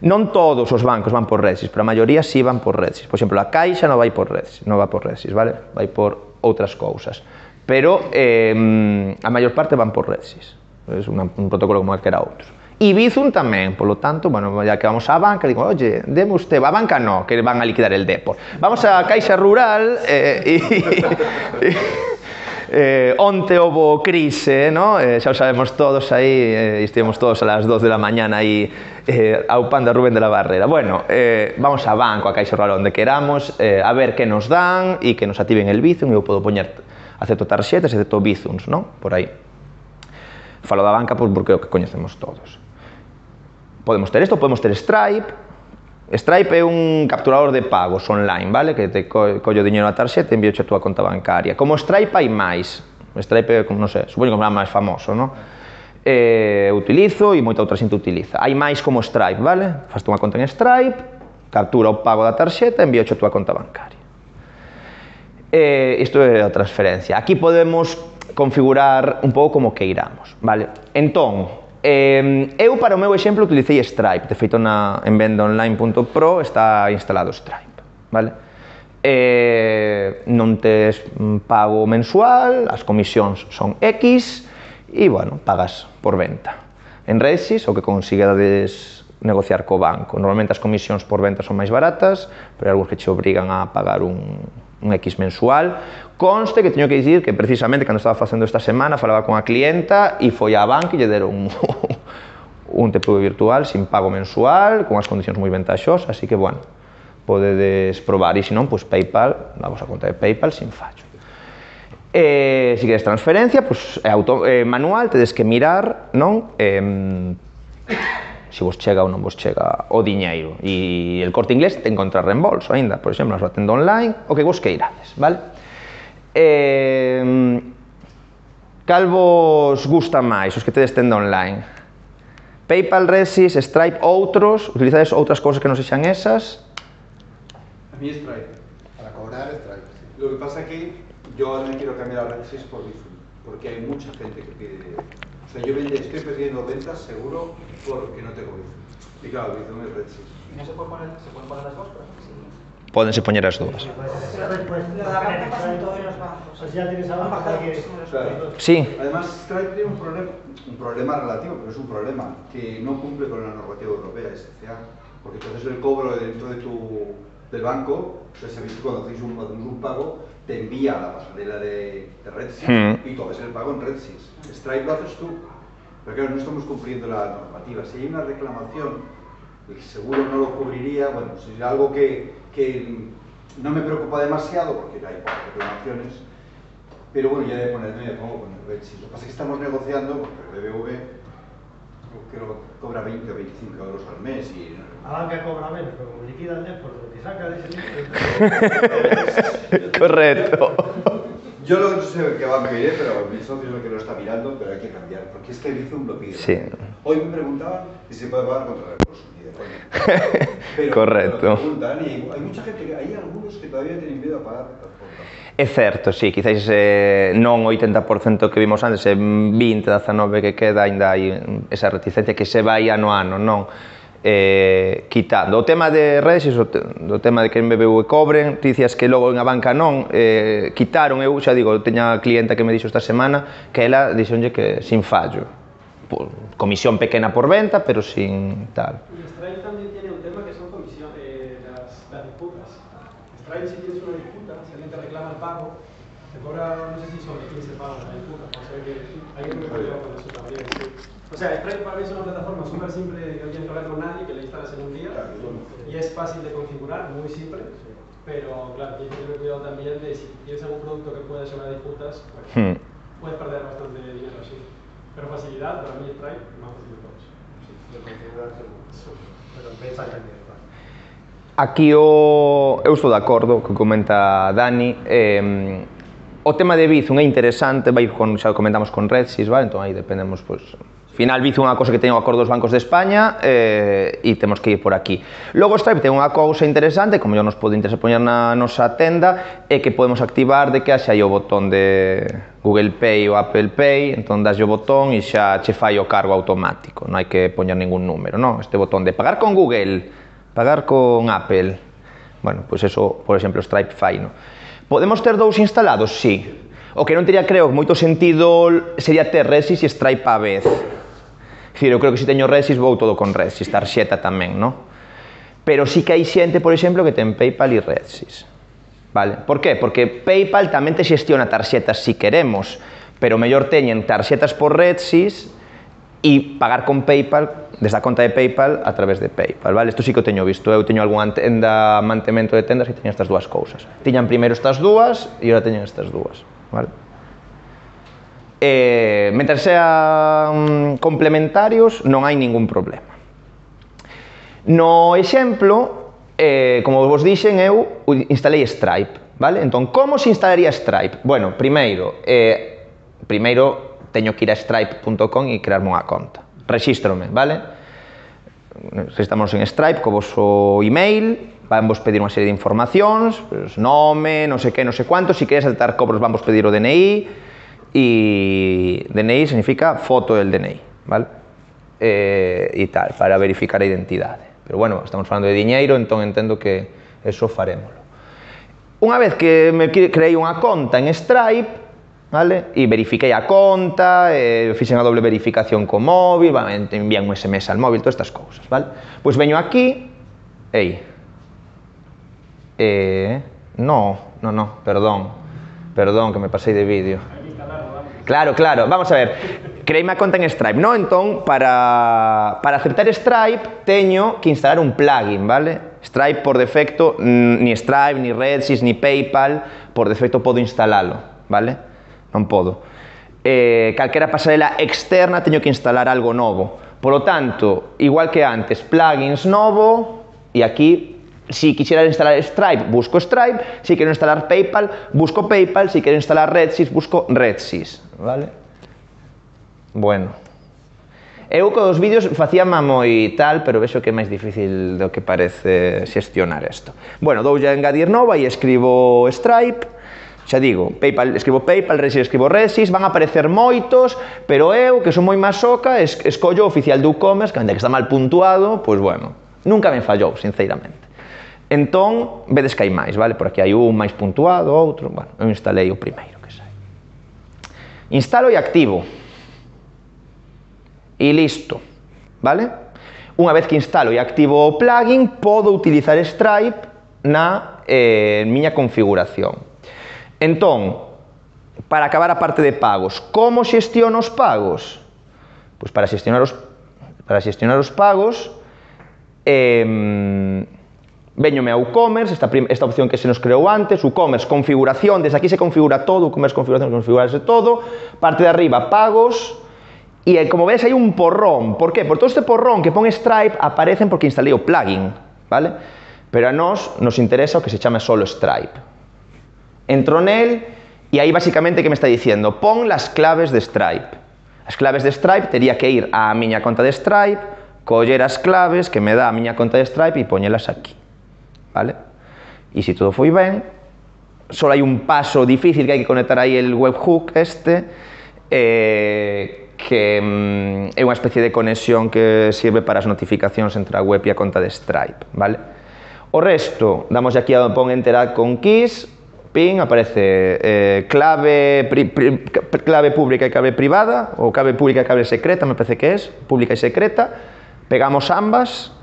Non todos os bancos van por Redsys, pero a maioría sí van por Redsys. Por exemplo, a Caixa non vai por Redsys, non va por Redsys, vale? Vai por outras cousas. Pero eh, a maior parte van por Redsys. É un protocolo como calquera outro. E Bizum tamén, polo tanto, bueno, ya que vamos á banca, digo, oye, deme usted, a banca no, que van a liquidar el depor. Vamos á Caixa Rural, eh, e, eh, onte houbo crise, no? Eh, xa o sabemos todos aí, eh, estivemos todos a las dos de la mañana aí, eh, ao pan de Rubén de la Barrera. Bueno, eh, vamos á banco, a Caixa Rural, onde queramos, eh, a ver que nos dan, e que nos activen el Bizum, e eu podo poñer, acepto tarxetas, acepto Bizums, no? Por aí. Falo da banca porque é o que coñecemos todos. Podemos ter isto, podemos ter Stripe. Stripe é un capturador de pagos online, vale? Que te co collo diñeiro na tarxeta e envío a túa conta bancaria. Como Stripe hai máis. Stripe é, non sei, supoño que é máis famoso, non? Eh, utilizo e moita outra xente utiliza. Hai máis como Stripe, vale? Faste unha conta en Stripe, captura o pago da tarxeta e envío a túa conta bancaria. Eh, isto é a transferencia. Aquí podemos configurar un pouco como queiramos, vale? Entón, Eh, eu, para o meu exemplo, utilicei Stripe. De feito, na, en venda online punto pro está instalado Stripe, vale? Eh, non tes pago mensual, as comisións son X e, bueno, pagas por venta. En Redsys, o que consigades negociar co banco. Normalmente as comisións por venta son máis baratas, pero hai algúns que che obrigan a pagar un, un X mensual. Conste que teño que dicir que precisamente cando estaba facendo esta semana falaba con a clienta e foi á banca e lle deron un, un T P V virtual sin pago mensual, con as condicións moi ventaxosas, así que, bueno, podedes probar, e se non, pois PayPal, damos a conta de PayPal sin fallo. Eh, se queres transferencia, pois é auto, eh, manual, tedes que mirar, non? Eh, se vos chega ou non vos chega o diñeiro. E el Corte Inglés ten contrarreembolso aínda, por exemplo, na súa tenda online, o que vos queirades, vale? Eh, cal vos gusta máis, os que tedes tenda online? PayPal, Redsys, Stripe, outros? Utilizades outras cousas que non sexan esas? A mí Stripe. Para cobrar Stripe, sí. Lo que pasa que yo ahora me quiero cambiar a Redsys por Bizum, porque hay mucha gente que pide... O sea, yo vende, estoy perdiendo ventas seguro porque no tengo Bizum. Y claro, Bizum es Redsys. ¿Y no se puede poner, se pueden poner las dos? Sí. Pódense poñer as dúas. Lo da banca pasa en todos los bancos. Pues ya tienes a banca para que... Claro. Sí. Además, Stripe tiene un problema, un problema relativo, pero es un problema que no cumple con la normativa europea, S C A. Porque entonces el cobro dentro de tu, del banco, pues sabéis que cuando hacéis un, un pago, te envía a la pasarela de, de Redsys Hmm. y tú haces el pago en Redsys. Stripe lo haces tú, pero claro, no estamos cumpliendo la normativa. Si hay una reclamación, el seguro no lo cubriría, bueno, si es algo que, que no me preocupa demasiado, porque hay pocas reclamaciones, pero bueno, ya de ponerme, me pongo con el Redsys. Lo que pasa es que estamos negociando, porque el B B V creo que cobra veinte o veinticinco euros al mes y... A banca cobra menos, pero como liquida el depósito, lo que saca de ese dinero... Correcto. Yo lo que no sé qué va a pedir, pero mi socio es el que lo está mirando, pero hay que cambiar, porque es que Bizum lo pide. Sí. Hoy me preguntaban si se puede pagar contra reembolso. Y de coña. Pero, Correcto. pero preguntan, y hay mucha gente, que, hay algunos que todavía tienen miedo a pagar de tal forma. É certo, sí, quizáis eh, non o oitenta por cento que vimos antes, é vinte, dezanove que queda, ainda hai esa reticencia que se vai ano a ano, non? Eh, quitando. O tema de Redsys, o, te, o tema de que en B B V cobren, ti dicías que logo en a banca non, eh, quitaron, eu xa digo, teña clienta que me dixo esta semana que ela dixonlle que sin fallo. Por, comisión pequena por venta, pero sin tal. Y Stripe también tiene un tema que son comisiones, eh, las, las disputas. Stripe, si tienes una disputa, si alguien te reclama el pago, te cobra, no sé si sobre quince pagos la disputa, o sea que hay que tener cuidado con eso también. Sí. O sea, Stripe para mí es una plataforma súper simple, que no tienes que hablar con nadie, que la instalas en un día y es fácil de configurar, muy simple, pero claro, tienes que tener cuidado también de si tienes algún producto que pueda ser disputas, pues, Hmm. puedes perder bastante dinero así. Pero facilidad, para mí Stripe, más fácil de todos. Sí, de configurar seguro. Pero empieza a cambiar. Aquí o, eu estou de acordo co que comenta Dani. Eh, o tema de Bizum é interesante, vai con, xa comentamos con Redsys, vale? Entón aí dependemos, pois, final Bizum é unha cosa que ten o acordo dos bancos de España eh, e temos que ir por aquí. Logo Stripe ten unha cousa interesante, como yo nos pode interesar poñer na nosa tenda, é que podemos activar de que haxa aí o botón de Google Pay ou Apple Pay, entón das o botón e xa che fai o cargo automático, non hai que poñer ningún número, non? Este botón de pagar con Google, pagar con Apple, bueno, pois eso, por exemplo, Stripe fai, non? Podemos ter dous instalados? Sí. O que non teria, creo, moito sentido sería ter Redsys e Stripe á vez. Dicir, eu creo que se teño Redsys vou todo con Redsys, tarxeta tamén, non? Pero sí que hai xente, por exemplo, que ten PayPal e Redsys. Vale? Por qué? Porque PayPal tamén te xestiona tarxetas si queremos, pero mellor teñen tarxetas por Redsys e pagar con PayPal desde a conta de PayPal a través de PayPal, vale? Isto sí que o teño visto, eu teño algunha tenda, mantemento de tendas que teñen estas dúas cousas. Tiñan primeiro estas dúas e agora teñen estas dúas, vale? Eh, mentre sean complementarios non hai ningún problema. No exemplo, eh, como vos dixen, eu instalei Stripe, vale? Entón, como se instalaría Stripe? Bueno, primeiro, eh, primeiro teño que ir a stripe punto com e crearme unha conta. Rexístrome, vale? Registramos en Stripe co vosso email, van vos pedir unha serie de informacións, pues, nome, non sei que, non sei cuánto, se queres aceptar cobros van vos pedir o D N I, e D N I significa foto del D N I, vale? e, e tal, para verificar a identidade. Pero bueno, estamos falando de diñeiro, entón entendo que eso farémolo. Unha vez que me creei unha conta en Stripe, vale? E verifiquei a conta, e fixen a doble verificación co móvil, vale? Envían un S M S al móvil, todas estas cousas, vale? Pois veño aquí, ei, eh, no, no, no, perdón, perdón, que me pasei de vídeo. Claro, claro, vamos a ver, creíme a conta en Stripe, no? Entón, para, para aceptar Stripe, teño que instalar un plugin, vale? Stripe, por defecto, ni Stripe, ni Redsys, ni PayPal, por defecto podo instalalo, vale? Non podo. Eh, calquera pasarela externa teño que instalar algo novo. Por lo tanto, igual que antes, plugins novo, e aquí, si quixera instalar Stripe, busco Stripe, si quero instalar PayPal, busco PayPal, si quero instalar Redsys, busco Redsys, vale? Bueno. Eu cos vídeos facía moi tal, pero vexo que é máis difícil do que parece xestionar isto. Bueno, doulle a engadir nova e escribo Stripe, xa digo, PayPal, escribo PayPal, Redsys, escribo Redsys, van a aparecer moitos, pero eu, que son moi masoca, es, escollo o oficial do e-commerce, que ainda que está mal puntuado, pois bueno, nunca me fallou, sinceramente. Entón, vedes que hai máis, vale? Por aquí hai un máis puntuado, outro, bueno, eu instalei o primeiro que sai. Instalo e activo. E listo, vale? Unha vez que instalo e activo o plugin, podo utilizar Stripe na eh, miña configuración. Entón, para acabar a parte de pagos, como xestiono os pagos? Pois para xestionar os, para xestionar os pagos, eh, veñome a WooCommerce, esta, esta opción que se nos creou antes, WooCommerce, configuración, desde aquí se configura todo, WooCommerce, configuración, configurarse todo, parte de arriba, pagos. E como ves hai un porrón, por qué? Por todo este porrón que pon Stripe aparecen porque instalei o plugin, vale? Pero a nós nos interesa o que se chama solo Stripe. Entro nel e aí basicamente que me está diciendo, pon las claves de Stripe. As claves de Stripe tería que ir á miña conta de Stripe, coller as claves que me dá a miña conta de Stripe e poñelas aquí, vale? E se todo foi ben, só hai un paso difícil que hai que conectar aí el webhook este, eh, que mm, é unha especie de conexión que sirve para as notificacións entre a web e a conta de Stripe, vale? O resto, damos aquí a pon Interact con keys, pin, aparece eh, clave, pri, pri, clave pública e clave privada, ou clave pública e clave secreta, me parece que é, pública e secreta, pegamos ambas,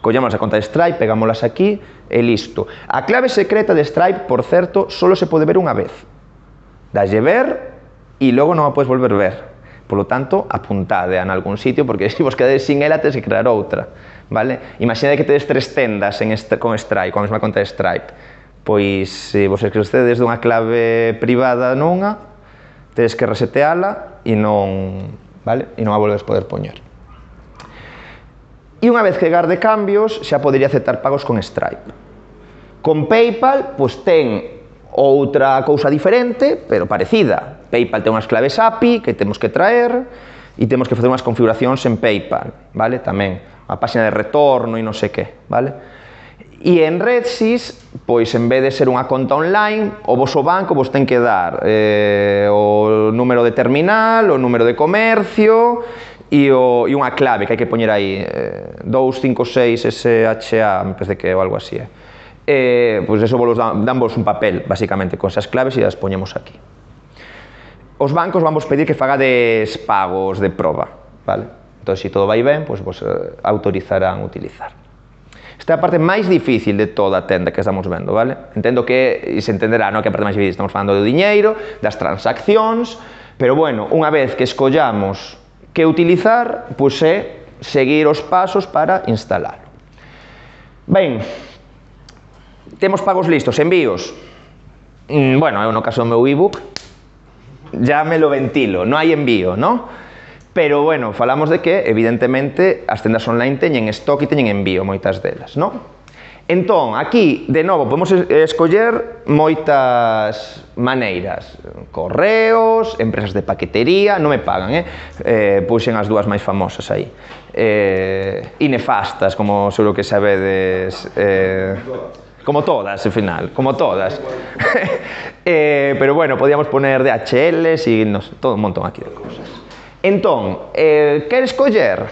collemos a conta de Stripe, pegámoslas aquí, e listo. A clave secreta de Stripe, por certo, solo se pode ver unha vez. Dalle ver, e logo non a podes volver ver. Por lo tanto, apuntade en algún sitio, porque se vos quedades sin ela, tedes que crear outra, vale? Imaginade que tedes tres tendas en este, con Stripe, con a mesma conta de Stripe. Pois, se vos esquecedes dunha clave privada nunha, tedes que reseteala e non, vale? E non a volves poder poñer. E unha vez que garde cambios, xa podería aceptar pagos con Stripe. Con PayPal, pois ten outra cousa diferente, pero parecida. PayPal ten unhas claves A P I que temos que traer e temos que facer unhas configuracións en PayPal, vale? Tamén, a páxina de retorno e non sei que, vale? E en Redsys, pois en vez de ser unha conta online, o voso banco vos ten que dar eh, o número de terminal, o número de comercio e, o, e unha clave que hai que poñer aí, eh, dous cinco seis S H A, me parece que é ou algo así, eh. Eh, pois eso vos dan, danvos un papel, basicamente, con esas claves e as poñemos aquí. Os bancos vamos pedir que fagades pagos de proba, vale? Entón, se todo vai ben, pois vos eh, autorizarán utilizar. Esta é a parte máis difícil de toda a tenda que estamos vendo, vale? Entendo que, e se entenderá, non? Que a parte máis difícil, estamos falando do diñeiro, das transaccións, pero bueno, unha vez que escollamos que utilizar, pois é seguir os pasos para instalar. Ben, temos pagos listos, envíos. Mm, bueno, eu no caso do meu ebook, ya me lo ventilo, non hai envío, ¿no? Pero, bueno, falamos de que, evidentemente, as tendas online teñen stock e teñen envío, moitas delas, ¿no? Entón, aquí, de novo, podemos escoller moitas maneiras. Correos, empresas de paquetería, non me pagan, eh? eh puxen as dúas máis famosas aí. Eh, e nefastas, como seguro que sabedes... Eh, como todas, al final, como todas. eh, pero bueno, podíamos poner D H Ls e no sé, todo un montón aquí de cosas. Entón, eh, queres coller?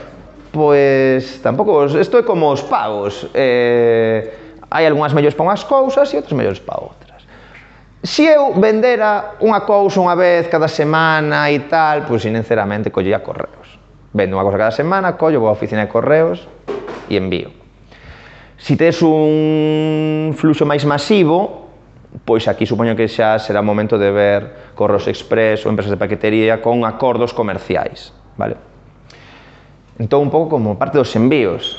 Pois tampouco, isto é como os pagos. Eh, hai algunhas mellores para unhas cousas e outras mellores para outras. Se eu vendera unha cousa unha vez cada semana e tal, pois sinceramente collía correos. Vendo unha cousa cada semana, collo, vou á oficina de correos e envío. Se tes un fluxo máis masivo, pois aquí supoño que xa será o momento de ver Correos Express ou empresas de paquetería con acordos comerciais, vale? Entón, un pouco como parte dos envíos.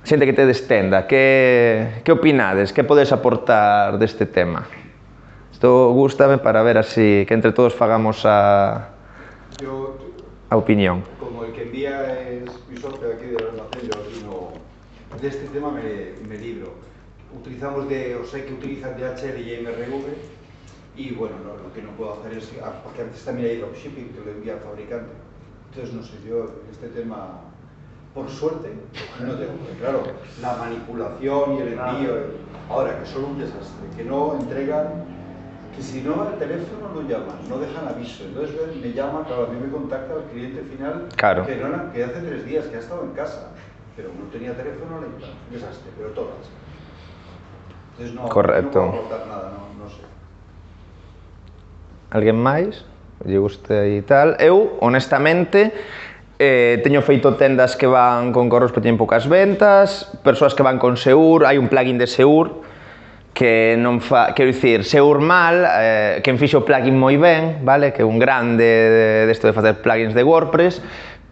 Xente que te destenda, que, que opinades? Que podes aportar deste tema? Isto gústame para ver así, que entre todos fagamos a, Yo, a opinión. como el que envía es mi socio aquí del almacén, yo aquí no, de este tema me, me libro. Utilizamos de, o sé que utilizan D H L y M R V y bueno, no, lo que no puedo hacer es, ah, porque antes también hay dropshipping que lo envía el fabricante. Entonces, no sé, yo este tema, por suerte, no tengo, porque claro, la manipulación y el envío, ahora que son un desastre, que no entregan, que si no al teléfono no llaman, no dejan aviso, entonces me llama, claro, a mí me contacta el cliente final, claro. que, no, que hace tres días que ha estado en casa, pero no tenía teléfono, un desastre, pero todas. Entonces no, correcto. No puedo aportar nada, no, no sé. Alguén máis? Lle guste e tal. Eu, honestamente, eh, teño feito tendas que van con correos pero teñen poucas ventas, persoas que van con Seur, hai un plugin de Seur que non fa, quero dicir, Seur mal, eh, quen fixo o plugin moi ben, vale? Que é un grande desto de, de facer plugins de WordPress,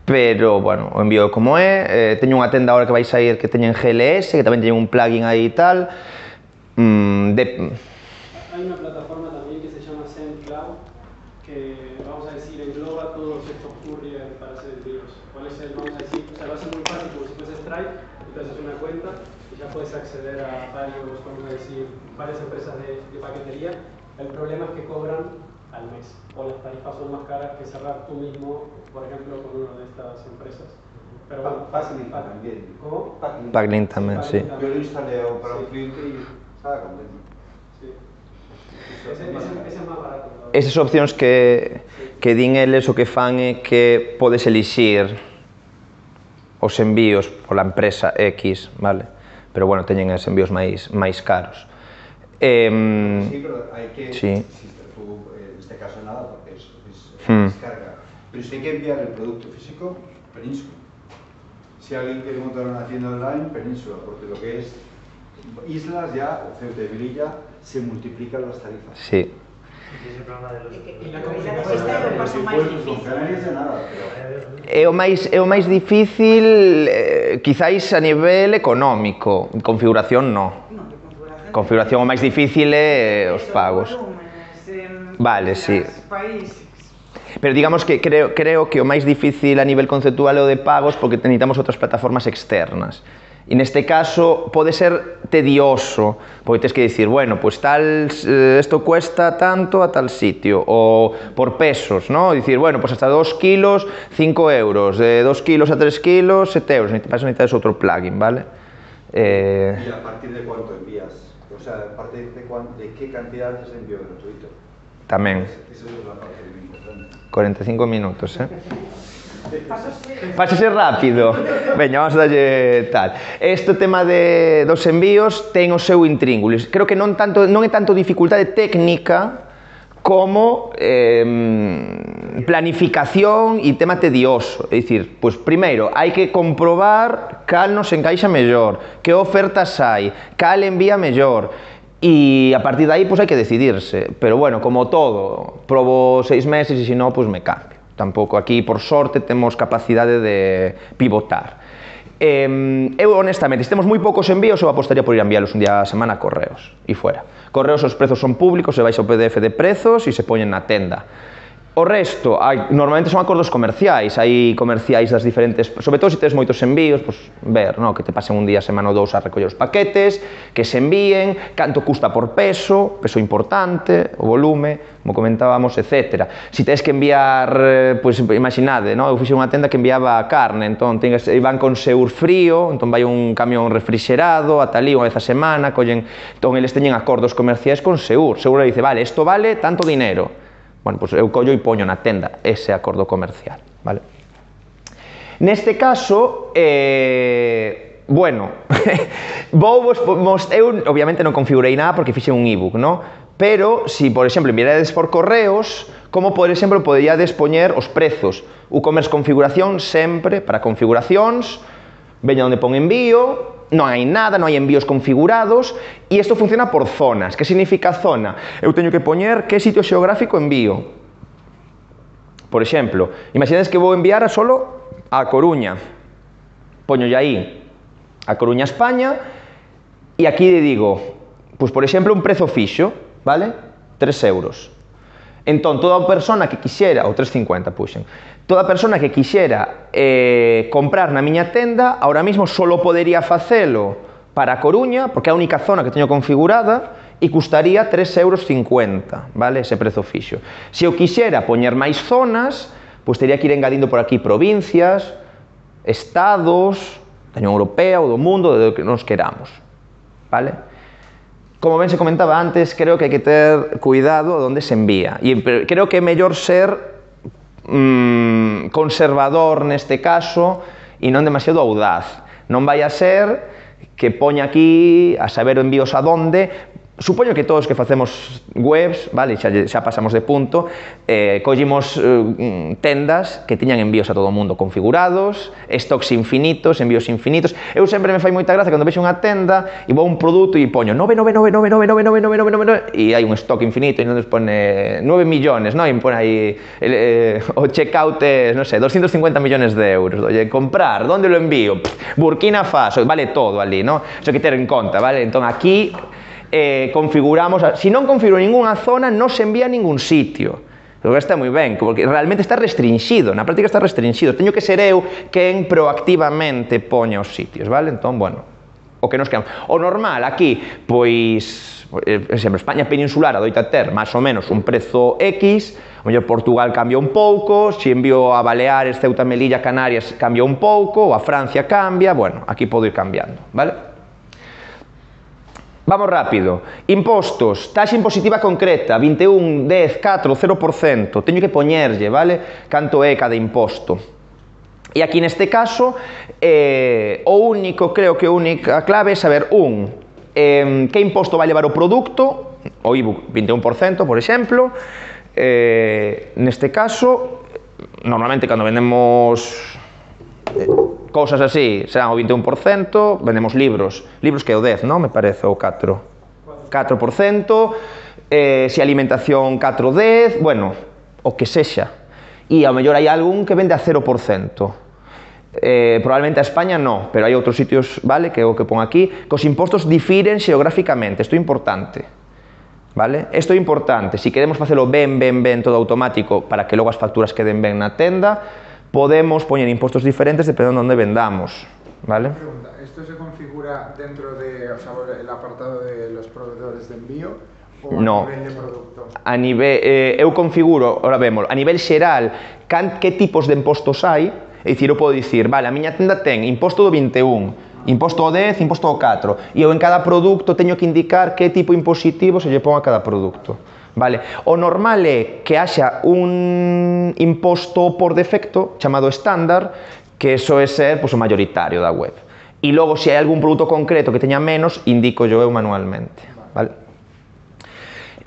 pero, bueno, o envío como é, eh, teño unha tenda agora que vai sair que teñen G L S, que tamén teñen un plugin aí e tal, mm, de... Hay una plataforma también que se llama SendCloud, que vamos a decir engloba todos estos courier para hacer envíos. ¿Cuál es el, vamos a decir, o sea, lo hace muy fácil como si fuese Stripe, entonces es una cuenta y ya puedes acceder a varios, vamos a decir, varias empresas de, de paquetería. El problema es que cobran al mes, o las tarifas son más caras que cerrar tú mismo, por ejemplo, con una de estas empresas. Pero bueno, Packlink también. ¿Cómo? Packlink tamén, sí. Yo lo instalé para un cliente y estaba contento. Sí. Ese, ese, ese es más barato. ¿No? Esas opcións que, que din eles o que fan é que podes elixir os envíos pola empresa X, vale? Pero bueno, teñen os envíos máis, máis caros. Eh, sí, pero hay que, sí. si tú, en este caso nada, porque es, es, es Hmm. descarga. Pero si hay que enviar el producto físico, Península. Si alguien quiere montar una tienda online, Península, porque lo que es islas ya, o Ceuta y Melilla, se multiplican las tarifas. Sí. Y la comunidad está é o paso máis difícil. Canarias de nada, pero... É o máis, é o máis difícil, eh, quizáis a nivel económico, configuración no. Non, de configuración. Configuración o máis difícil é os pagos. Vale, sí. Países. Pero digamos que creo, creo que o máis difícil a nivel conceptual é o de pagos porque necesitamos outras plataformas externas. E neste caso pode ser tedioso, porque tens que dicir, bueno, pues tal, esto cuesta tanto a tal sitio, ou por pesos, ¿no? Dicir, bueno, pues hasta dos kilos, cinco euros, de dos kilos a tres kilos, sete euros, para eso necesitas outro plugin, ¿vale? Eh... ¿Y a partir de cuánto envías? O sea, a partir de, cuán, de qué cantidad es envío gratuito? Tamén. Eso es la parte muy importante. cuarenta y cinco minutos, eh? Pásase rápido. Veña, vamos a darlle tal. Este tema de, dos envíos ten o seu intríngulis. Creo que non, tanto, non é tanto dificultade técnica como eh, planificación e tema tedioso. É dicir, pues, primeiro, hai que comprobar cal nos encaixa mellor, que ofertas hai, cal envía mellor. E a partir de aí, pues, hai que decidirse. Pero bueno, como todo, probo seis meses e se non, pues me cambio. Tampouco aquí, por sorte, temos capacidade de pivotar. Eh, eu, honestamente, se temos moi poucos envíos, eu apostaría por ir a enviálos un día a semana a Correos, e fuera. Correos, os prezos son públicos, se vais ao P D F de prezos e se poñen na tenda. O resto, hai, normalmente son acordos comerciais, hai comerciais das diferentes, sobre todo se tes moitos envíos, pues, ver, no, que te pasen un día, semana ou dous a recoller os paquetes, que se envíen, canto custa por peso, peso importante, o volume, como comentábamos, etcétera. Si tes que enviar, pues, imaginade, no, eu fixe unha tenda que enviaba carne, entón tengas, van con Seur frío, entón vai un camión refrigerado, ata ali unha vez a semana, collen, entón eles teñen acordos comerciais con Seur, Seur dice, vale, isto vale tanto dinero. Bueno, pues eu collo e poño na tenda ese acordo comercial, vale? Neste caso, eh, bueno, vou vos, vos, eu obviamente non configurei nada porque fixe un ebook, no? Pero, si, por exemplo, enviarades por correos, como, por exemplo, poderíades poñer os prezos. WooCommerce configuración sempre para configuracións, veña onde pon envío, non hai nada, non hai envíos configurados, e isto funciona por zonas. Que significa zona? Eu teño que poñer que sitio xeográfico envío. Por exemplo, imaginades que vou enviar a solo a Coruña. Poñolle aí a Coruña, España, e aquí le digo, pois, por exemplo, un prezo fixo, vale? tres euros. Entón, toda persona que quixera, ou tres cincuenta puxen, toda persona que quixera eh, comprar na miña tenda, ahora mismo solo podería facelo para a Coruña, porque é a única zona que teño configurada, e custaría tres euros cincuenta, vale? Ese prezo fixo. Se eu quixera poñer máis zonas, pois teria que ir engadindo por aquí provincias, estados, da Unión Europea ou do mundo, do que nos queramos, vale? Como ben se comentaba antes, creo que hai que ter cuidado onde se envía. E creo que é mellor ser mmm, conservador neste caso e non demasiado audaz. Non vai a ser que poña aquí a saber envíos a donde. Supoño que todos que facemos webs, vale, xa, xa pasamos de punto, eh, collimos eh, tendas que tiñan envíos a todo o mundo configurados, stocks infinitos, envíos infinitos. Eu sempre me fai moita gracia cando vexo unha tenda e vou a un produto e poño nove nove nove nove nove nove nove nove nove nove e hai un stock infinito e non nos pone nove millones, non? E pone aí eh, o checkout é, non sei, doscientos cincuenta millones de euros. Oye, comprar, onde lo envío? Pff, Burkina Faso, vale todo ali, non? Iso hai que ter en conta, vale? Entón aquí Eh, configuramos, se si non configuro ninguna zona, non se envía a ningún sitio. Pero está moi ben, porque realmente está restringido, na práctica está restringido. Teño que ser eu quen proactivamente poña os sitios, vale? Entón, bueno, o que nos quedamos. O normal, aquí, pois, por exemplo, España peninsular adoita ter máis ou menos un prezo X, o mellor Portugal cambia un pouco, se envío a Baleares, Ceuta, Melilla, Canarias cambia un pouco, ou a Francia cambia, bueno, aquí podo ir cambiando, vale? Vamos rápido. Impostos, taxa impositiva concreta, vinte e un, dez, catro, cero por cento. Teño que poñerlle, vale? Canto é cada imposto. E aquí neste caso, eh, o único, creo que a única clave é saber, un, eh, que imposto vai levar o produto, o ebook vinte e un por cento, por exemplo. Eh, neste caso, normalmente cando vendemos eh, cousas así, serán o vinte e un por cento, vendemos libros, libros que é o dez, non? Me parece, ou catro. catro por cento, eh, se alimentación catro, dez, bueno, o que sexa. E ao mellor hai algún que vende a cero por cento. Eh, probablemente a España non, pero hai outros sitios, vale, que é o que pon aquí, que os impostos difiren xeográficamente, isto é importante. Vale? Isto é importante, se si queremos facelo ben, ben, ben, todo automático, para que logo as facturas queden ben na tenda, podemos poñer impostos diferentes dependendo de onde vendamos, ¿vale? Pregunta, ¿esto se configura dentro de, o sea, el apartado de los proveedores de envío o no. a nivel de producto? A nivel, eh, eu configuro, ahora vemos, a nivel xeral, can, que tipos de impostos hai, é dicir, eu podo dicir, vale, a miña tenda ten imposto do vinte e un, imposto do dez, imposto do catro, e eu en cada produto teño que indicar que tipo impositivo se lle pon a cada produto. Vale. O normal é que haxa un imposto por defecto chamado estándar, que eso é ser pues, o mayoritario da web. E logo, se hai algún produto concreto que teña menos, indico yo eu manualmente. Vale.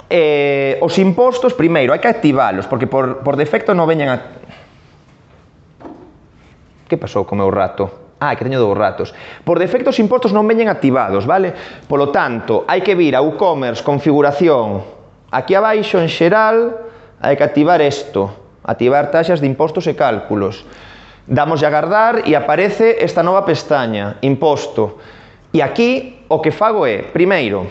Eh, os impostos, primeiro, hai que activalos, porque por, por defecto non veñen a... Que pasou co meu rato? Ah, que teño dous ratos. Por defecto os impostos non veñen activados, vale? Polo tanto, hai que vir a WooCommerce, configuración. Aquí abaixo, en xeral, hai que activar isto, activar taxas de impostos e cálculos. Damos a agardar e aparece esta nova pestaña, imposto. E aquí o que fago é, primeiro,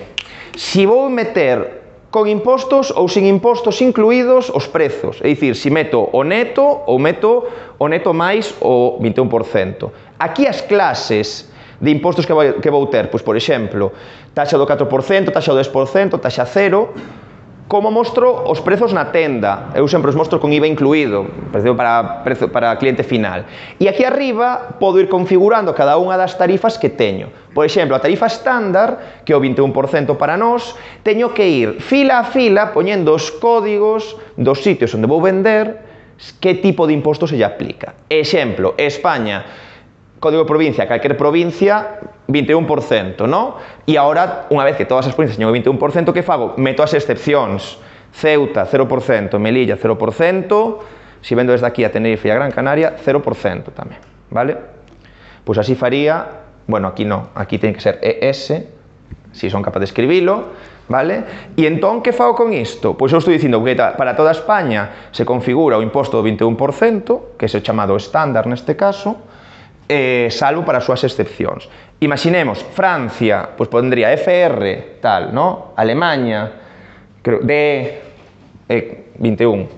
se vou meter con impostos ou sin impostos incluídos os prezos, é dicir, se meto o neto ou meto o neto máis o vinte e un por cento. Aquí as clases de impostos que vou, que vou ter, pois, por exemplo, taxa do catro por cento, taxa do dez por cento, taxa cero. Como mostro os prezos na tenda, eu sempre os mostro con I V A incluído, precio para, precio para cliente final. E aquí arriba podo ir configurando cada unha das tarifas que teño. Por exemplo, a tarifa estándar, que é o vinte e un por cento para nós, teño que ir fila a fila poñendo os códigos dos sitios onde vou vender, que tipo de imposto se lle aplica. Exemplo, España, código de provincia, calquer provincia, vinte e un por cento, ¿no? E agora, unha vez que todas as provincias teñen o vinte e un por cento, que fago? Meto as excepcións. Ceuta, cero por cento, Melilla, cero por cento, se vendo desde aquí a Tenerife e a Gran Canaria, cero por cento tamén, vale? Pois así faría, bueno, aquí non, aquí ten que ser E S, si son capaz de escribilo, vale? E entón, que fago con isto? Pois eu estou dicindo que para toda España se configura o imposto do vinte e un por cento, que é o chamado estándar neste caso, eh, salvo para as súas excepcións. Imaginemos, Francia, pois pondría F R, tal, ¿no? Alemania, creo, D, eh, vinte e un.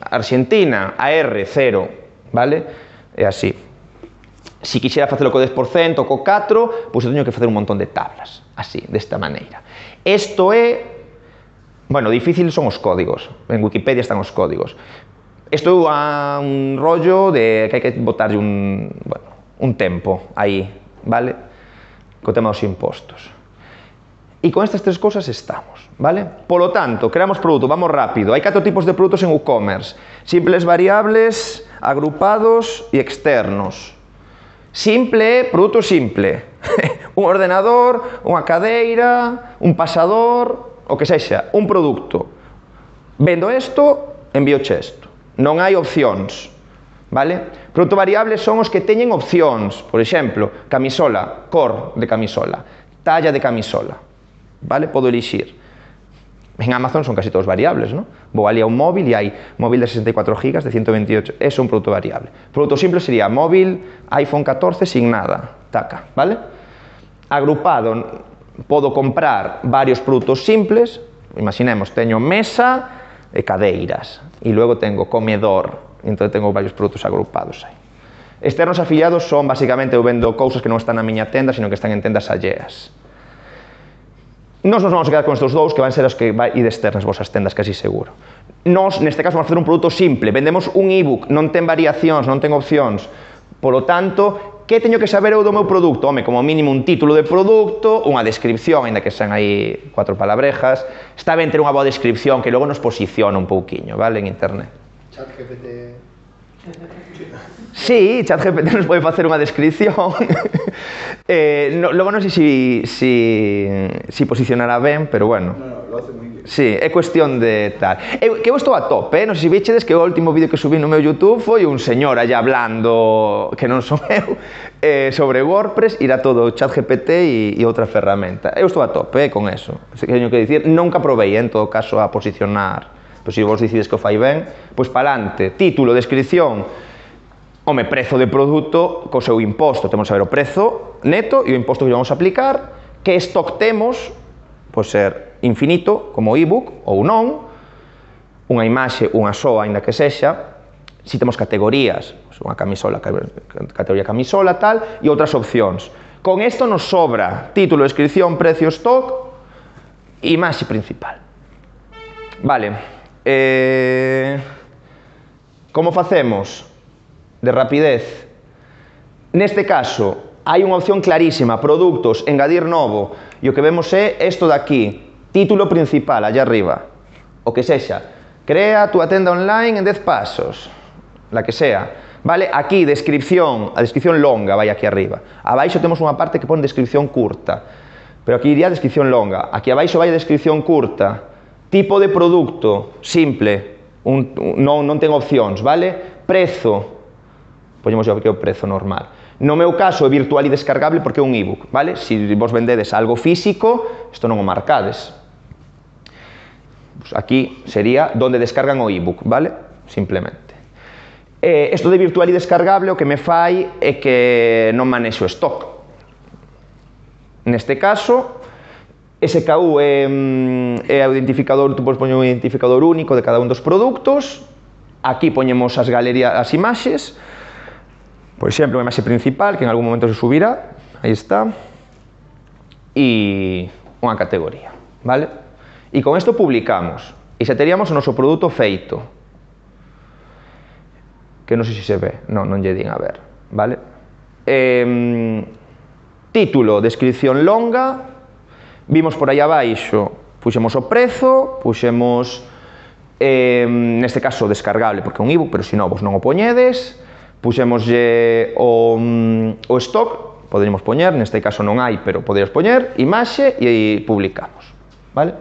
Argentina, A R, cero, vale? É así. Si quixera facelo co dez por cento, co catro, pois eu teño que facer un montón de tablas, así, desta maneira. Isto é, bueno, difícil son os códigos, en Wikipedia están os códigos. Isto é un rollo de que hai que botarlle un, bueno, un tempo aí, vale? Co tema dos impostos. E con estas tres cousas estamos, vale? Polo tanto, creamos produto, vamos rápido. Hai catro tipos de produtos en WooCommerce. Simples, variables, agrupados e externos. Simple é produto simple. Un ordenador, unha cadeira, un pasador, o que sexa, un produto. Vendo isto, envío isto. Non hai opcións, vale? Produto variable son os que teñen opcións. Por exemplo, camisola, cor de camisola, talla de camisola, vale? Podo elixir. En Amazon son casi todos variables, ¿no? Vou ali a un móvil e hai móvil de sesenta e catro gigas de ciento veintiocho, eso é un produto variable. Produto simple sería móvil, iPhone catorce sin nada, taca, vale? Agrupado, podo comprar varios produtos simples, imaginemos, teño mesa e cadeiras, e logo tengo comedor, entón tengo varios produtos agrupados aí. Externos afiliados son, basicamente, eu vendo cousas que non están na miña tenda, sino que están en tendas alleas. Nos nos vamos a quedar con estes dous, que van ser os que vai ir externas vosas tendas, casi seguro. Nos, neste caso, vamos a facer un produto simple. Vendemos un ebook, non ten variacións, non ten opcións. Polo tanto, que teño que saber eu do meu produto? Home, como mínimo un título de produto, unha descripción, ainda que sean aí cuatro palabrejas. Está ben ter unha boa descripción que logo nos posiciona un pouquiño, vale, en internet. ChatGPT... Sí, ChatGPT nos pode facer unha descripción. eh, no, logo non sei si, si, si posicionará ben, pero bueno. No, no, lo hace muy bien. Sí, é cuestión de tal. Eu, que eu estou a tope, eh? Non sei se vichedes que o último vídeo que subí no meu YouTube foi un señor allá hablando, que non son eu, eh, sobre WordPress, irá todo ChatGPT e, e outra ferramenta. Eu estou a tope eh, con eso. Así que teño que dicir, nunca provei, eh, en todo caso, a posicionar. Pois se vos decides que o fai ben, pois palante, título, descripción, home, prezo de produto co seu imposto. Temos que saber o prezo neto e o imposto que vamos a aplicar, que stock temos, pode ser infinito, como ebook, ou non, unha imaxe, unha soa, ainda que sexa, si temos categorías, unha camisola, categoría camisola, tal, e outras opcións. Con isto nos sobra título, descripción, precio, stock e imaxe principal. Vale. Eh, como facemos? De rapidez. Neste caso, hai unha opción clarísima, produtos, engadir novo, e o que vemos é isto de aquí, título principal, allá arriba, o que sexa, crea a túa tenda online en dez pasos, la que sea, vale? Aquí, descripción, a descripción longa, vai aquí arriba, abaixo temos unha parte que pon descripción curta, pero aquí iría descripción longa, aquí abaixo vai a descripción curta, tipo de produto, simple, un, un, non, non ten opcións, vale? Prezo, poñemos aquí o prezo normal. No meu caso é virtual e descargable porque é un ebook, vale? Se vos vendedes algo físico, isto non o marcades. Pues aquí sería donde descargan o ebook, vale? Simplemente. Eh, isto de virtual e descargable o que me fai é que non manexo stock. Neste caso, S K U é, é o identificador, tú podes poñer un identificador único de cada un dos produtos. Aquí poñemos as galerías, as imaxes. Por exemplo, unha imaxe principal, que en algún momento se subirá. Aí está. E unha categoría, vale? E con isto publicamos. E xa teríamos o noso produto feito. Que non sei se se ve. Non, non lle din a ver, vale? Eh, título, descripción longa. Vimos por aí abaixo, puxemos o prezo, puxemos eh, neste caso descargable porque é un ebook, pero se non vos non o poñedes, puxémoslle o, o stock, poderíamos poñer, neste caso non hai, pero poderíamos poñer, imaxe e publicamos, vale?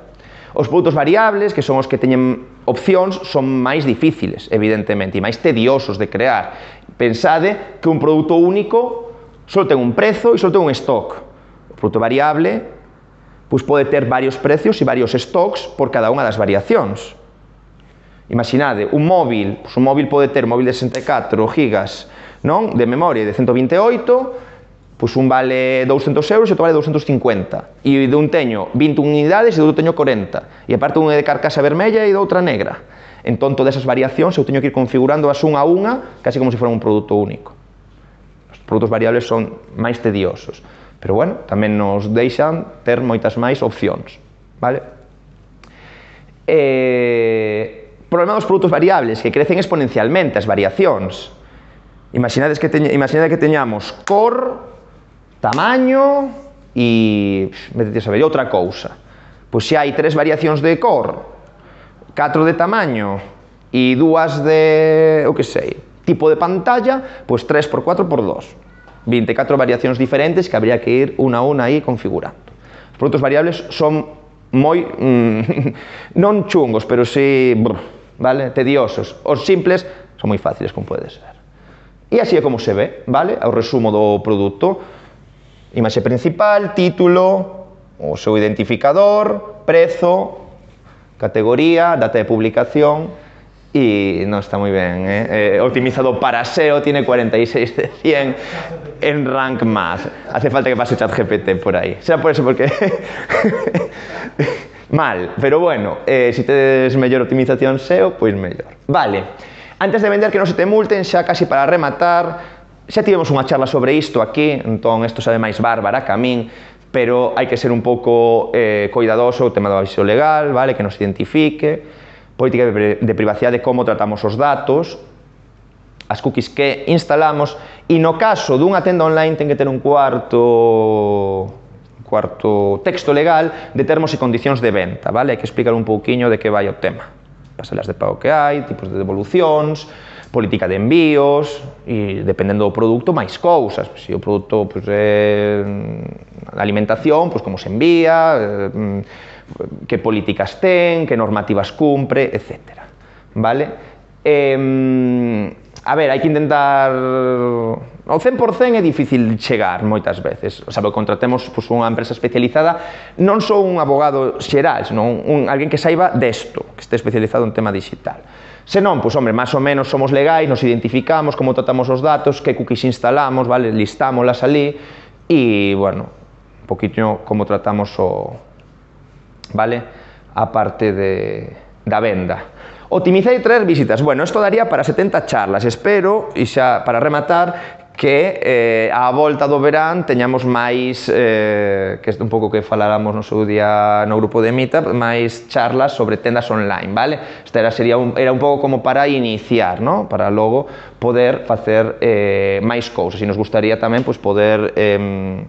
Os produtos variables, que son os que teñen opcións, son máis difíciles, evidentemente, e máis tediosos de crear. Pensade que un produto único só ten un prezo e só ten un stock. O produto variable pois pode ter varios precios e varios stocks por cada unha das variacións. Imaginade, un móvil, pois un móvil pode ter un móvil de sesenta e catro gigas, non? De memoria de ciento vinte e oito, pois un vale douscentos euros e outro vale douscentos cincuenta. E de un teño vinte unidades e de outro teño corenta. E aparte un é de carcasa vermella e de outra negra. Entón, todas esas variacións eu teño que ir configurando as unha a unha, casi como se fora un produto único. Os produtos variables son máis tediosos. Pero, bueno, tamén nos deixan ter moitas máis opcións, vale? Eh... Problema dos produtos variables, que crecen exponencialmente as variacións. Imaginades que, teñ, imaginade que teñamos cor, tamaño e, vete a saber, outra cousa. Pois se hai tres variacións de cor, catro de tamaño e dúas de, o que sei, tipo de pantalla, pois tres por catro por dos. vinte e catro variacións diferentes que habría que ir unha a unha aí configurando. Os produtos variables son moi, mm, non chungos, pero si, brr, vale, tediosos. Os simples son moi fáciles, como pode ser. E así é como se ve, vale, o resumo do produto. Imaxe principal, título, o seu identificador, prezo, categoría, data de publicación, e non está moi ben, eh? Eh, optimizado para S E O, tiene cuarenta y seis de cien en Rank Math. Hace falta que pase ChatGPT por aí. Será por eso, porque... mal, pero bueno, eh, si tedes mellor optimización S E O, pois mellor. Vale, antes de vender que non se te multen, xa casi para rematar, xa tivemos unha charla sobre isto aquí, entón isto sabe máis bárbara que a min, pero hai que ser un pouco eh, cuidadoso o tema do aviso legal, vale, que nos identifique, política de privacidade, como tratamos os datos, as cookies que instalamos, e no caso dunha tenda online ten que ter un cuarto cuarto texto legal de termos e condicións de venta, vale? Hai que explicar un pouquiño de que vai o tema. Pasalas de pago que hai, tipos de devolucións, política de envíos, e dependendo do produto, máis cousas. Se o produto pois, é alimentación, pois como se envía, eh, que políticas ten, que normativas cumpre, etcétera. Vale? Eh, a ver, hai que intentar... Ao cen por cen é difícil chegar moitas veces. O sea, contratemos pues, unha empresa especializada, non só un abogado xeral, senón un, alguén que saiba desto, que este especializado en tema digital. Se non, pois, hombre, máis ou menos somos legais, nos identificamos, como tratamos os datos, que cookies instalamos, vale, listámolas ali, e, bueno, un poquinho como tratamos o... vale, a parte de, da venda. Optimizar e traer visitas. Bueno, isto daría para setenta charlas. Espero, e xa para rematar, que eh, á volta do verán teñamos máis, eh, que é un pouco que faláramos no seu día no grupo de Meetup, máis charlas sobre tendas online, vale? Esta era, sería un, era un pouco como para iniciar, ¿no? Para logo poder facer eh, máis cousas. E nos gustaría tamén pues, poder, eh,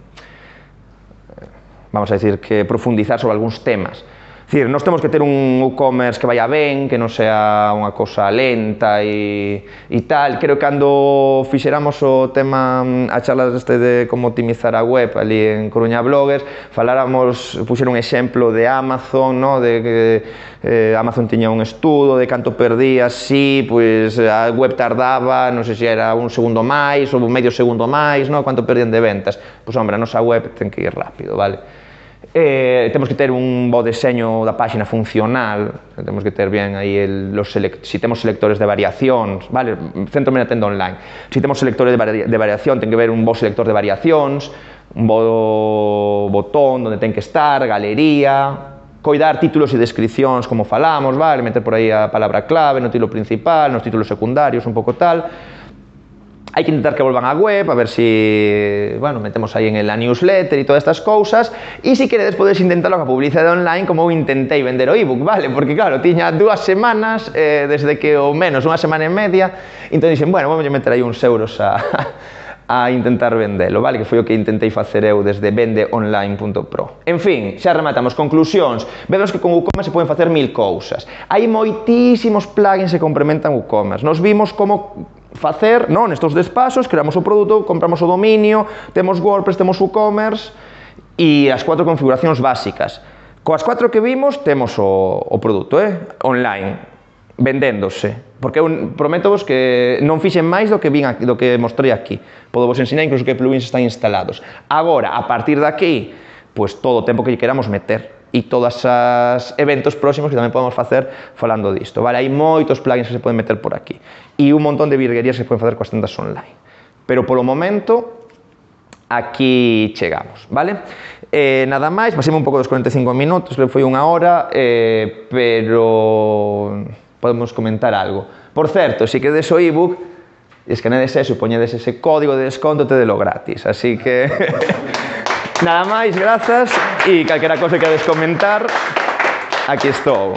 vamos a decir, que profundizar sobre algúns temas. É dicir, nós temos que ter un e-commerce que vaya ben, que non sea unha cosa lenta e, e tal. Creo que cando fixéramos o tema, a charla este de como optimizar a web ali en Coruña Bloggers, faláramos, puxer un exemplo de Amazon, no? De que eh, Amazon tiña un estudo de canto perdía, si, pois a web tardaba, non sei se era un segundo máis ou medio segundo máis, no? Canto perdían de ventas. Pois, hombre, a nosa web ten que ir rápido, vale? Eh, temos que ter un bo deseño da páxina funcional, temos que ter bien aí el, los select, si temos selectores de variacións, vale, centro na tenda online, si temos selectores de, vari, de variación, ten que ver un bo selector de variacións, un bo botón onde ten que estar, galería, coidar títulos e descripcións como falamos, vale, meter por aí a palabra clave no título principal, nos títulos secundarios, un pouco tal. Hai que intentar que volvan á web, a ver si, bueno, metemos aí en la newsletter e todas estas cousas, e se queredes podes intentarlo a publicidade online como eu intentei vender o ebook, vale? Porque claro, tiña dúas semanas, eh, desde que o menos unha semana e media, entón dixen, bueno, vamos a meter aí uns euros a, a intentar vendelo, vale? Que foi o que intentei facer eu desde vende online punto pro. En fin, xa rematamos. Conclusións. Vemos que con WooCommerce se poden facer mil cousas. Hai moitísimos plugins que complementan WooCommerce. Nos vimos como facer, non, nestos dez pasos, creamos o produto, compramos o dominio, temos WordPress, temos WooCommerce e as cuatro configuracións básicas. Coas cuatro que vimos, temos o, o produto, eh? Online, vendéndose, porque eu prometo vos que non fixen máis do que vin aquí, do que mostrei aquí. Podo vos ensinar incluso que plugins están instalados. Agora, a partir de aquí, pues todo o tempo que queramos meter e todos os eventos próximos que tamén podemos facer falando disto, vale? Hai moitos plugins que se poden meter por aquí e un montón de virguerías que se poden facer coas tendas online. Pero polo momento aquí chegamos, vale? Eh, nada máis, pasemos un pouco dos cuarenta e cinco minutos, que foi unha hora, eh, pero podemos comentar algo. Por certo, se quedes o ebook, escanedes eso e poñedes ese código de desconto, tedelo gratis, así que nada máis, grazas, e calquera cosa que queres comentar, aquí estou.